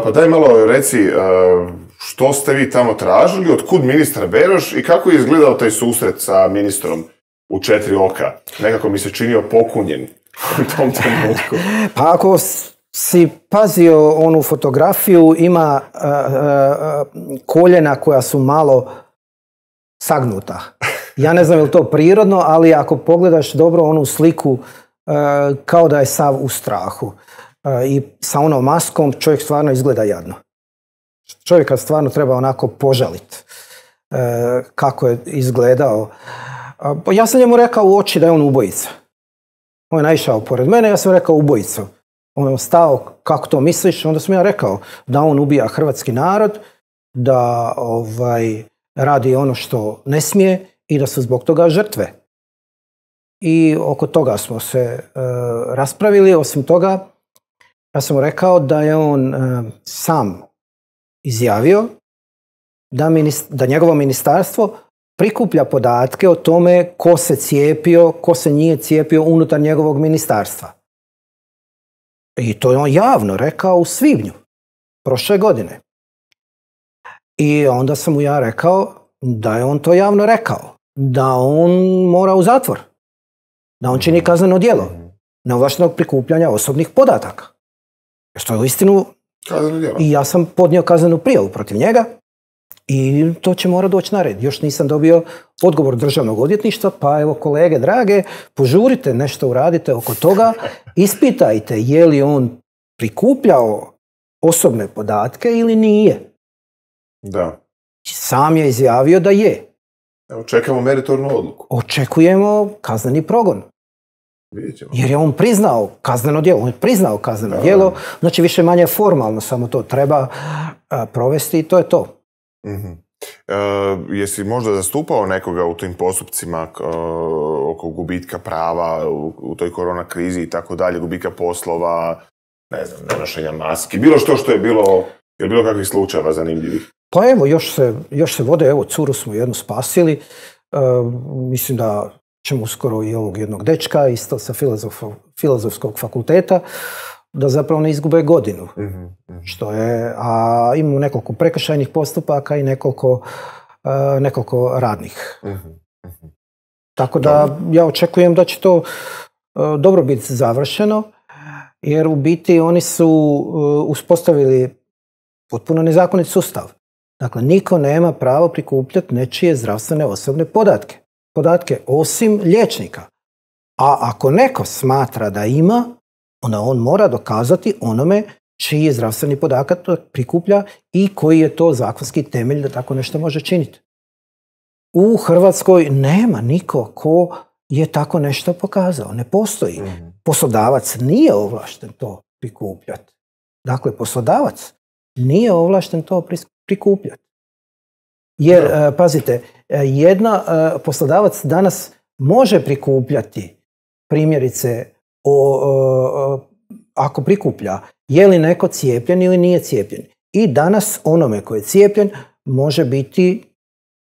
Pa daj malo reci, što ste vi tamo tražili, otkud ministar Beroš i kako je izgledao taj susret sa ministrom u 4 oka? Nekako mi se činio pokunjen u tom trenutku. Pa ako si pazio onu fotografiju, ima koljena koja su malo sagnuta. Ja ne znam je li to prirodno, ali ako pogledaš dobro onu sliku, kao da je sav u strahu. I sa onom maskom čovjek stvarno izgleda jadno. Čovjeka stvarno treba onako požaliti kako je izgledao. Ja sam njemu rekao u oči da je on ubojica. On je naišao pored mene, ja sam rekao ubojica. On je stao, kako to misliš? Onda sam ja rekao da on ubija hrvatski narod, da radi ono što ne smije i da su zbog toga žrtve. I oko toga smo se raspravili. Osim toga, ja sam mu rekao da je on sam izjavio da njegovo ministarstvo prikuplja podatke o tome ko se cijepio, ko se nije cijepio unutar njegovog ministarstva. I to je on javno rekao u svibnju prošle godine. I onda sam mu ja rekao da je on to javno rekao, da on mora u zatvor, da on čini kazneno djelo neovlaštenog prikupljanja osobnih podataka. Što je uistinu... I ja sam podnio kaznenu prijavu protiv njega i to će mora doći na red. Još nisam dobio odgovor državnog odvjetništva, pa evo kolege drage, požurite, nešto uradite oko toga, ispitajte je li on prikupljao osobne podatke ili nije. Da. Sam je izjavio da je. Evo, čekamo meritornu odluku. Očekujemo kazneni progon. Jer je on priznao kazneno djelo. On je priznao kazneno djelo, znači više manje formalno, samo to treba provesti i to je to. Jesi možda zastupao nekoga u tim postupcima oko gubitka prava u toj korona krizi i tako dalje, gubitka poslova, ne znam, nenošenja maski, bilo što je bilo, je bilo kakvih slučajeva zanimljivih? Pa evo, još se vode, evo, curu smo jednu spasili, mislim da ćemo uskoro i ovog jednog dečka, isto sa Filozofskog fakulteta, da zapravo ne izgube godinu. Što je, a imamo nekoliko prekršajnih postupaka i nekoliko radnih. Tako da ja očekujem da će to dobro biti završeno, jer u biti oni su uspostavili potpuno nezakonit sustav. Dakle, niko nema pravo prikupljati nečije zdravstvene osobne podatke osim liječnika. A ako neko smatra da ima, onda on mora dokazati onome čiji je zdravstveni podatak prikuplja i koji je to zakonski temelj da tako nešto može činiti. U Hrvatskoj nema niko ko je tako nešto pokazao. Ne postoji. Poslodavac nije ovlašten to prikupljati. Dakle, poslodavac nije ovlašten to prikupljati. Jer, pazite, poslodavac danas može prikupljati, primjerice, ako prikuplja je li neko cijepljen ili nije cijepljen. I danas onome koji je cijepljen može biti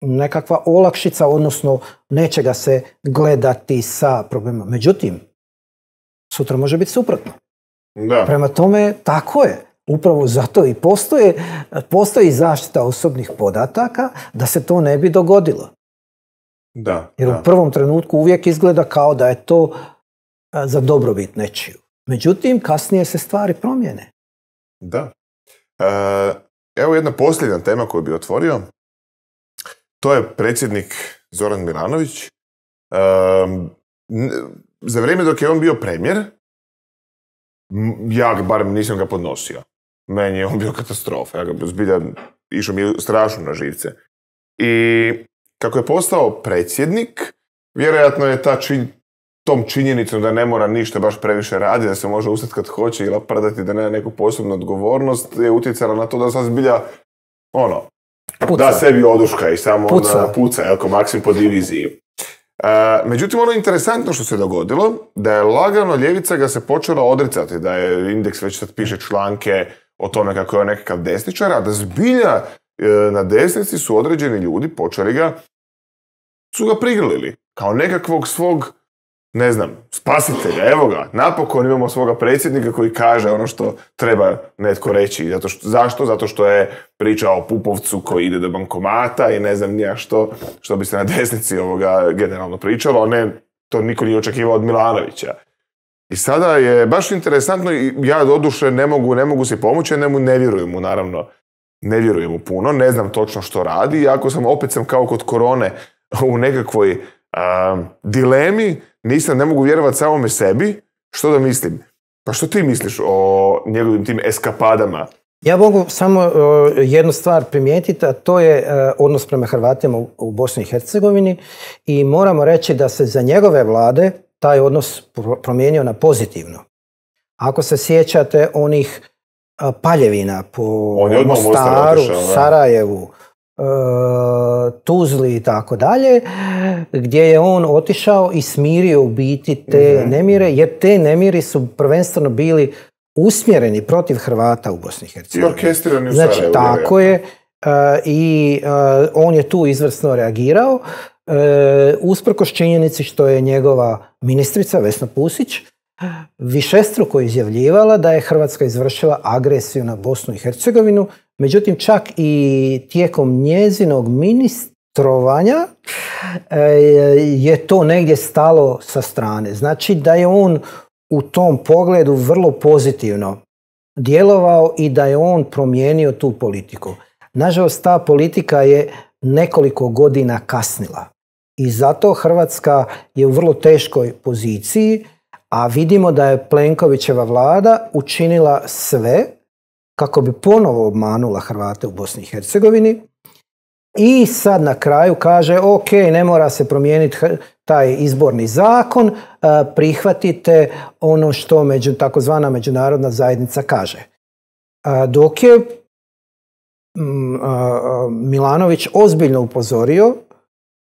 nekakva olakšica, odnosno neće ga se gledati sa problemima. Međutim, sutra može biti suprotno. Da. Prema tome, tako je. Upravo zato i postoji zaštita osobnih podataka da se to ne bi dogodilo. Da. Jer u prvom trenutku uvijek izgleda kao da je to za dobrobit nečiju. Međutim, kasnije se stvari promijene. Da. Evo jedna posljednja tema koju bi otvorio. To je predsjednik Zoran Milanović. Za vrijeme dok je on bio premijer, ja barem nisam ga podnosio. Meni je on bio katastrofa. Ja ga zbilja išao mi strašno na živce. I kako je postao predsjednik, vjerojatno je tom činjenicom da ne mora ništa baš previše raditi, da se može ustati kad hoće ili prdati, da nema neku posebnu odgovornost, je utjecala na to da sad zbilja da sebi oduška i samo puca, jako Maksim po diviziji. Međutim, ono interesantno što se dogodilo, da je lagano ljevica ga se počela odricati, da je Indeks već sad piše članke o tome kako je nekakav desničar, a da zbilja na desnici su određeni ljudi su ga prigrlili kao nekakvog svog, ne znam, spasitelja. Evo ga, napokon imamo svoga predsjednika koji kaže ono što treba netko reći. Zašto? Zato što je pričao o Pupovcu koji ide do bankomata i ne znam nija što bi se na desnici generalno pričalo, a ne, to niko nije očekivao od Milanovića. I sada je baš interesantno, i ja doduše ne mogu si pomoći, ne vjerujem mu, naravno. Ne vjerujem mu puno, ne znam točno što radi, iako opet sam kao kod korone u nekakvoj dilemi, ne mogu vjerovati samome sebi, što da mislim. Pa što ti misliš o njegovim tim eskapadama? Ja mogu samo jednu stvar primijetiti, a to je odnos prema Hrvatima u Bosni i Hercegovini, i moramo reći da se za njegove vlade taj odnos promijenio na pozitivno. Ako se sjećate onih paljevina po Mostaru, Sarajevu, Tuzli i tako dalje, gdje je on otišao i smirio u biti te nemire, jer te nemiri su prvenstveno bili usmjereni protiv Hrvata u Bosni i Hercegovini. I orkestrirani u Sarajevu. Znači, tako je. I on je tu izvrsno reagirao, usprkos činjenici što je njegova ministrica Vesna Pusić višestruko izjavljivala da je Hrvatska izvršila agresiju na Bosnu i Hercegovinu. Međutim, čak i tijekom njezinog ministrovanja je to negdje stalo sa strane. Znači da je on u tom pogledu vrlo pozitivno djelovao i da je on promijenio tu politiku. Nažalost, ta politika je nekoliko godina kasnila i zato Hrvatska je u vrlo teškoj poziciji, a vidimo da je Plenkovićeva vlada učinila sve kako bi ponovo obmanula Hrvate u Bosni i Hercegovini i sad na kraju kaže ok, ne mora se promijeniti taj izborni zakon, prihvatite ono što takozvana međunarodna zajednica kaže. Dok je Milanović ozbiljno upozorio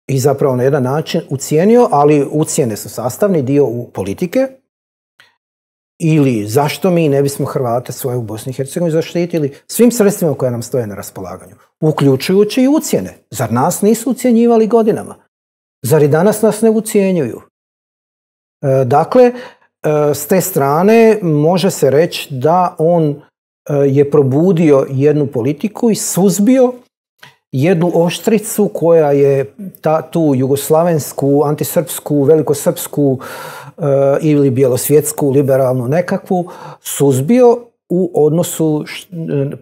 i zapravo na jedan način ucijenio, ali ucjene su sastavni dio politike, ili zašto mi ne bismo Hrvate svoje u Bosni i Hercegovini zaštitili svim sredstvima koje nam stoje na raspolaganju, uključujući i ucjene. Zar nas nisu ucjenjivali godinama? Zar i danas nas ne ucjenjuju? Dakle, s te strane može se reći da on je probudio jednu politiku i suzbio jednu oštricu koja je tu jugoslavensku, antisrpsku, velikosrpsku ili bjelosvjetsku, liberalnu nekakvu suzbio u odnosu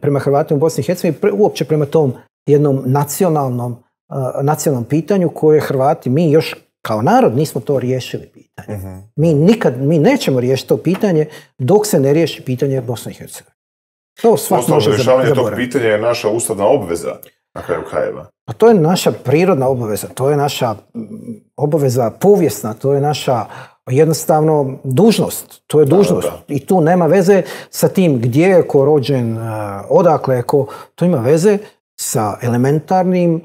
prema Hrvatima u Bosni i Hercegovini, uopće prema tom jednom nacionalnom pitanju koje Hrvati, mi još kao narod nismo to riješili pitanje. Mi nećemo riješiti to pitanje dok se ne riješi pitanje Bosne i Hercegovine. To svak može rješavanje tog zaboraviti. pitanja je naša ustavna obveza na kraju krajeva. A to je naša prirodna obaveza, to je naša obaveza povijesna, to je naša jednostavno dužnost. To je dužnost. I tu nema veze sa tim gdje je ko rođen, odakle je ko. To ima veze sa elementarnim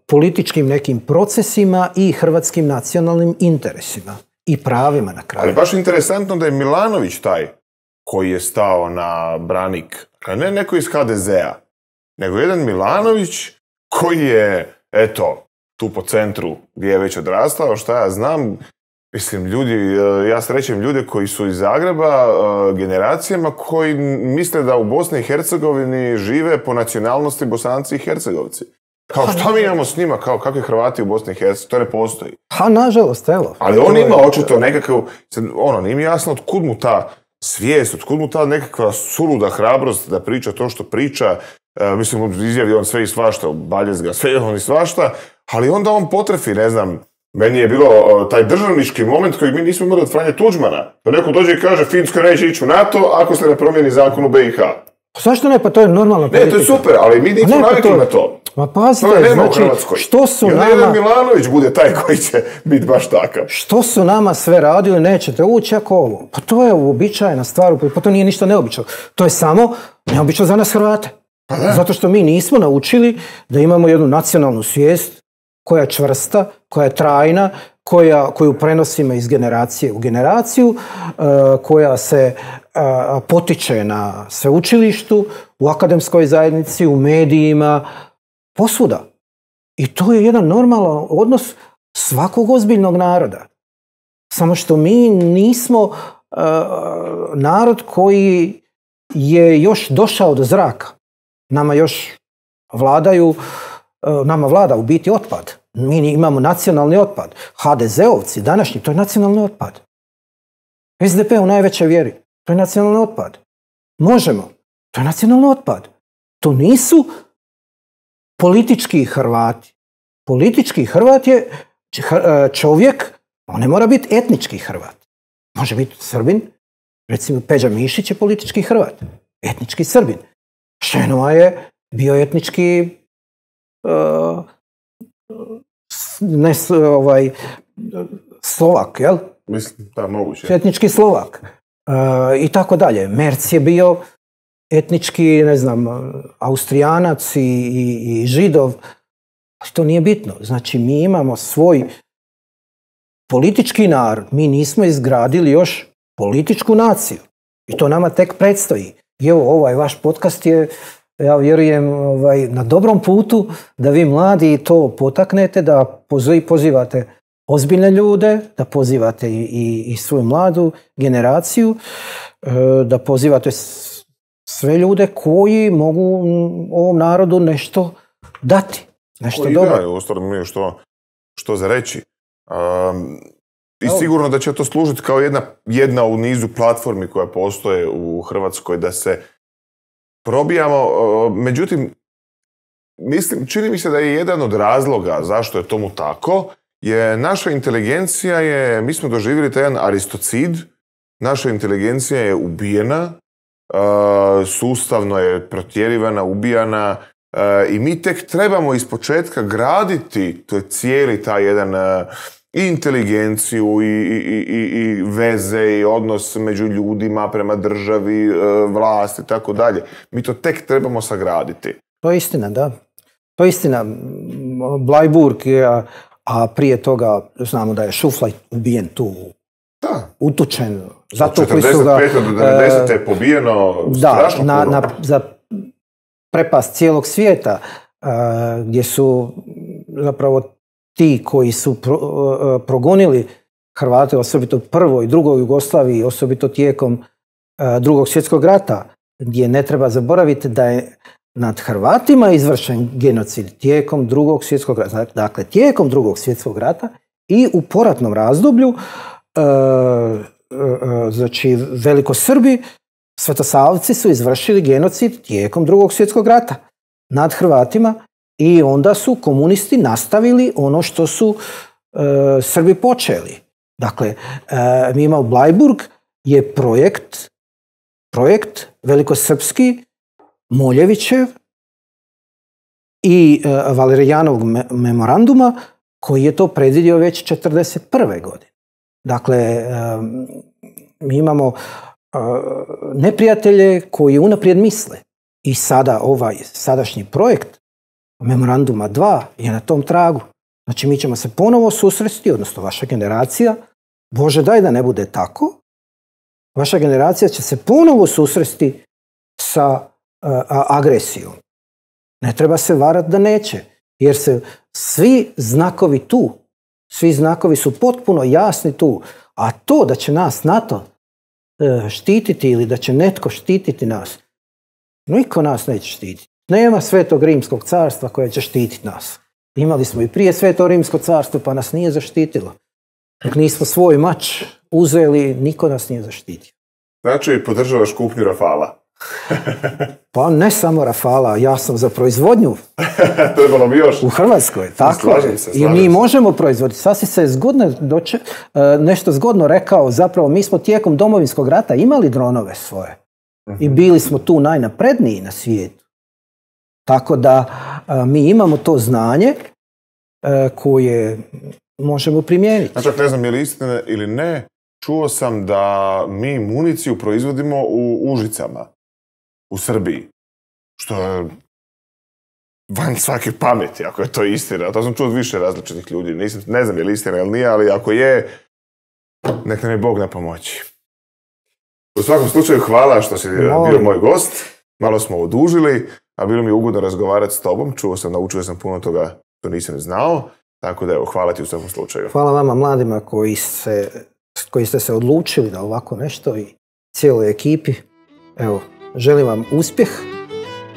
političkim nekim procesima i hrvatskim nacionalnim interesima i pravima na kraju. Ali baš interesantno da je Milanović taj koji je stao na branik, ne neko iz HDZ-a, nego jedan Milanović koji je, eto, tu po centru gdje je već odrastao, šta ja znam, mislim, ljudi, ja srećem ljude koji su iz Zagreba generacijama koji misle da u Bosni i Hercegovini žive po nacionalnosti Bosanci i Hercegovci. Kao šta mi imamo s njima, kao kakvi Hrvati u Bosni i Hercegovini, to ne postoji. Nažalost, evo. Ali on ima očito nekakav, nije mi jasno otkud mu ta svijest, otkud mu ta nekakva suluda hrabrost da priča to što priča. Mislim, izjavi on sve i svašta, Baljezga, sve on i svašta, ali onda on potrefi, ne znam, meni je bilo taj državnički moment koji mi nismo imali od Franje Tuđmana. Da neko dođe i kaže Finska neće ići u NATO ako se ne promijeni zakon u BiH. Zašto ne? Pa to je normalna politika. Ne, to je super, ali mi nismo navikli na to. Ma pazite, znači, što su nama... I onda jedan Milanović bude taj koji će biti baš takav. Što su nama sve radili, nećete ući ako ovo. Pa to je uobičajena stvar, pa to nije ništa neobično. To je samo neobično za nas Hrvate. Zato što mi nismo naučili da imamo jednu nacionalnu svijest koja je čvrsta, koja je trajna, koju prenosimo iz generacije u generaciju, koja se potiče na sveučilištu, u akademskoj zajednici, u medijima, posvuda. I to je jedan normalan odnos svakog ozbiljnog naroda. Samo što mi nismo narod koji je još došao do zraka. Nama još nama vlada u biti otpad. Mi imamo nacionalni otpad. HDZ-ovci današnji, to je nacionalni otpad. SDP u najvećoj vjeri, to je nacionalni otpad. Možemo, to je nacionalni otpad. To nisu politički Hrvati. Politički Hrvat je čovjek, on ne mora biti etnički Hrvat. Može biti Srbin, recimo Peđa Mišić je politički Hrvat, etnički Srbin. Šenova je bio etnički Slovak, jel? Mislim, da, moguće. Etnički Slovak. I tako dalje. Merc je bio etnički, ne znam, Austrijanac i Židov. To nije bitno. Znači, mi imamo svoj politički narod. Mi nismo izgradili još političku naciju. I to nama tek predstoji. I evo, ovaj vaš podcast je, ja vjerujem, na dobrom putu da vi mladi to potaknete, da pozivate ozbiljne ljude, da pozivate i svoju mladu generaciju, da pozivate sve ljude koji mogu ovom narodu nešto dati. Nešto dobro. Da, ustavno nije što za reći. I sigurno da će to služiti kao jedna u nizu platformi koja postoje u Hrvatskoj da se probijamo. Međutim, čini mi se da je jedan od razloga zašto je tomu tako, je naša inteligencija mi smo doživjeli taj jedan aristocid, naša inteligencija je ubijena, sustavno je protjerivana, ubijana i mi tek trebamo ispočetka graditi cijeli taj jedan i inteligenciju i veze i odnos među ljudima prema državi, vlasti i tako dalje. Mi to tek trebamo sagraditi. To je istina, da. To je istina. Blajburg, a prije toga znamo da je Šuflaj ubijen tu, utučen. Zato od 45. do 90. je pobijeno strašno puno. Za prepast cijelog svijeta, gdje su zapravo ti koji su progonili Hrvate, osobito u prvoj i drugoj Jugoslaviji, osobito tijekom Drugog svjetskog rata, gdje ne treba zaboraviti da je nad Hrvatima je izvršen genocid tijekom Drugog svjetskog rata. Dakle, tijekom Drugog svjetskog rata i u poratnom razdoblju znači velikosrbi, svetosavci su izvršili genocid tijekom Drugog svjetskog rata nad Hrvatima i onda su komunisti nastavili ono što su Srbi počeli. Dakle, mi imamo Bleiburg je projekt velikosrpski Moljevićev i Valerijanovog memoranduma koji je to predvidio već 1941. godine. Dakle, mi imamo neprijatelje koji unaprijed misle. I sada ovaj sadašnji projekt Memoranduma 2 je na tom tragu. Znači, mi ćemo se ponovo susresti, odnosno vaša generacija, Bože daj da ne bude tako, vaša generacija će se ponovo susresti sa agresijom. Ne treba se varati da neće, jer se svi znakovi tu, svi znakovi su potpuno jasni tu, a to da će nas NATO štititi ili da će netko štititi nas, niko nas neće štititi. Nema Svetog Rimskog carstva koje će štititi nas. Imali smo i prije Sveto Rimsko carstvo pa nas nije zaštitilo. Dok nismo svoj mač uzeli, niko nas nije zaštitio. Znači, podržavaš kupnju Rafala? Pa ne samo Rafala, ja sam za proizvodnju. Trebalo bi još. U Hrvatskoj, tako. Slažem se. I mi možemo proizvoditi. Sasvim se zgodno nešto zgodno rekao, zapravo mi smo tijekom Domovinskog rata imali dronove svoje. I bili smo tu najnapredniji na svijetu. Tako da mi imamo to znanje koje možemo primijeniti. Znači, ne znam je li istina ili ne, čuo sam da mi municiju proizvodimo u Užicama, u Srbiji. Što je van svake pameti, ako je to istina. To sam čuo od više različitih ljudi. Ne znam je li istina ili nije, ali ako je, nek nam je Bog na pomoći. U svakom slučaju, hvala što si bio moj gost. Malo smo odužili, a bilo mi je ugodno razgovarati s tobom. Naučio sam puno toga što nisam znao. Tako da, evo, hvala ti u svakom slučaju. Hvala vama mladima koji ste se odlučili da ovako nešto i cijeloj ekipi. Evo, želim vam uspjeh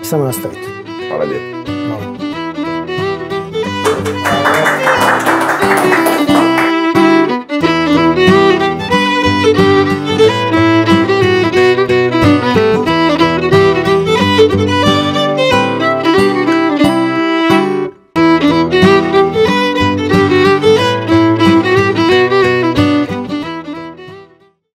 i samo nastavite. Hvala lijepo. Hvala.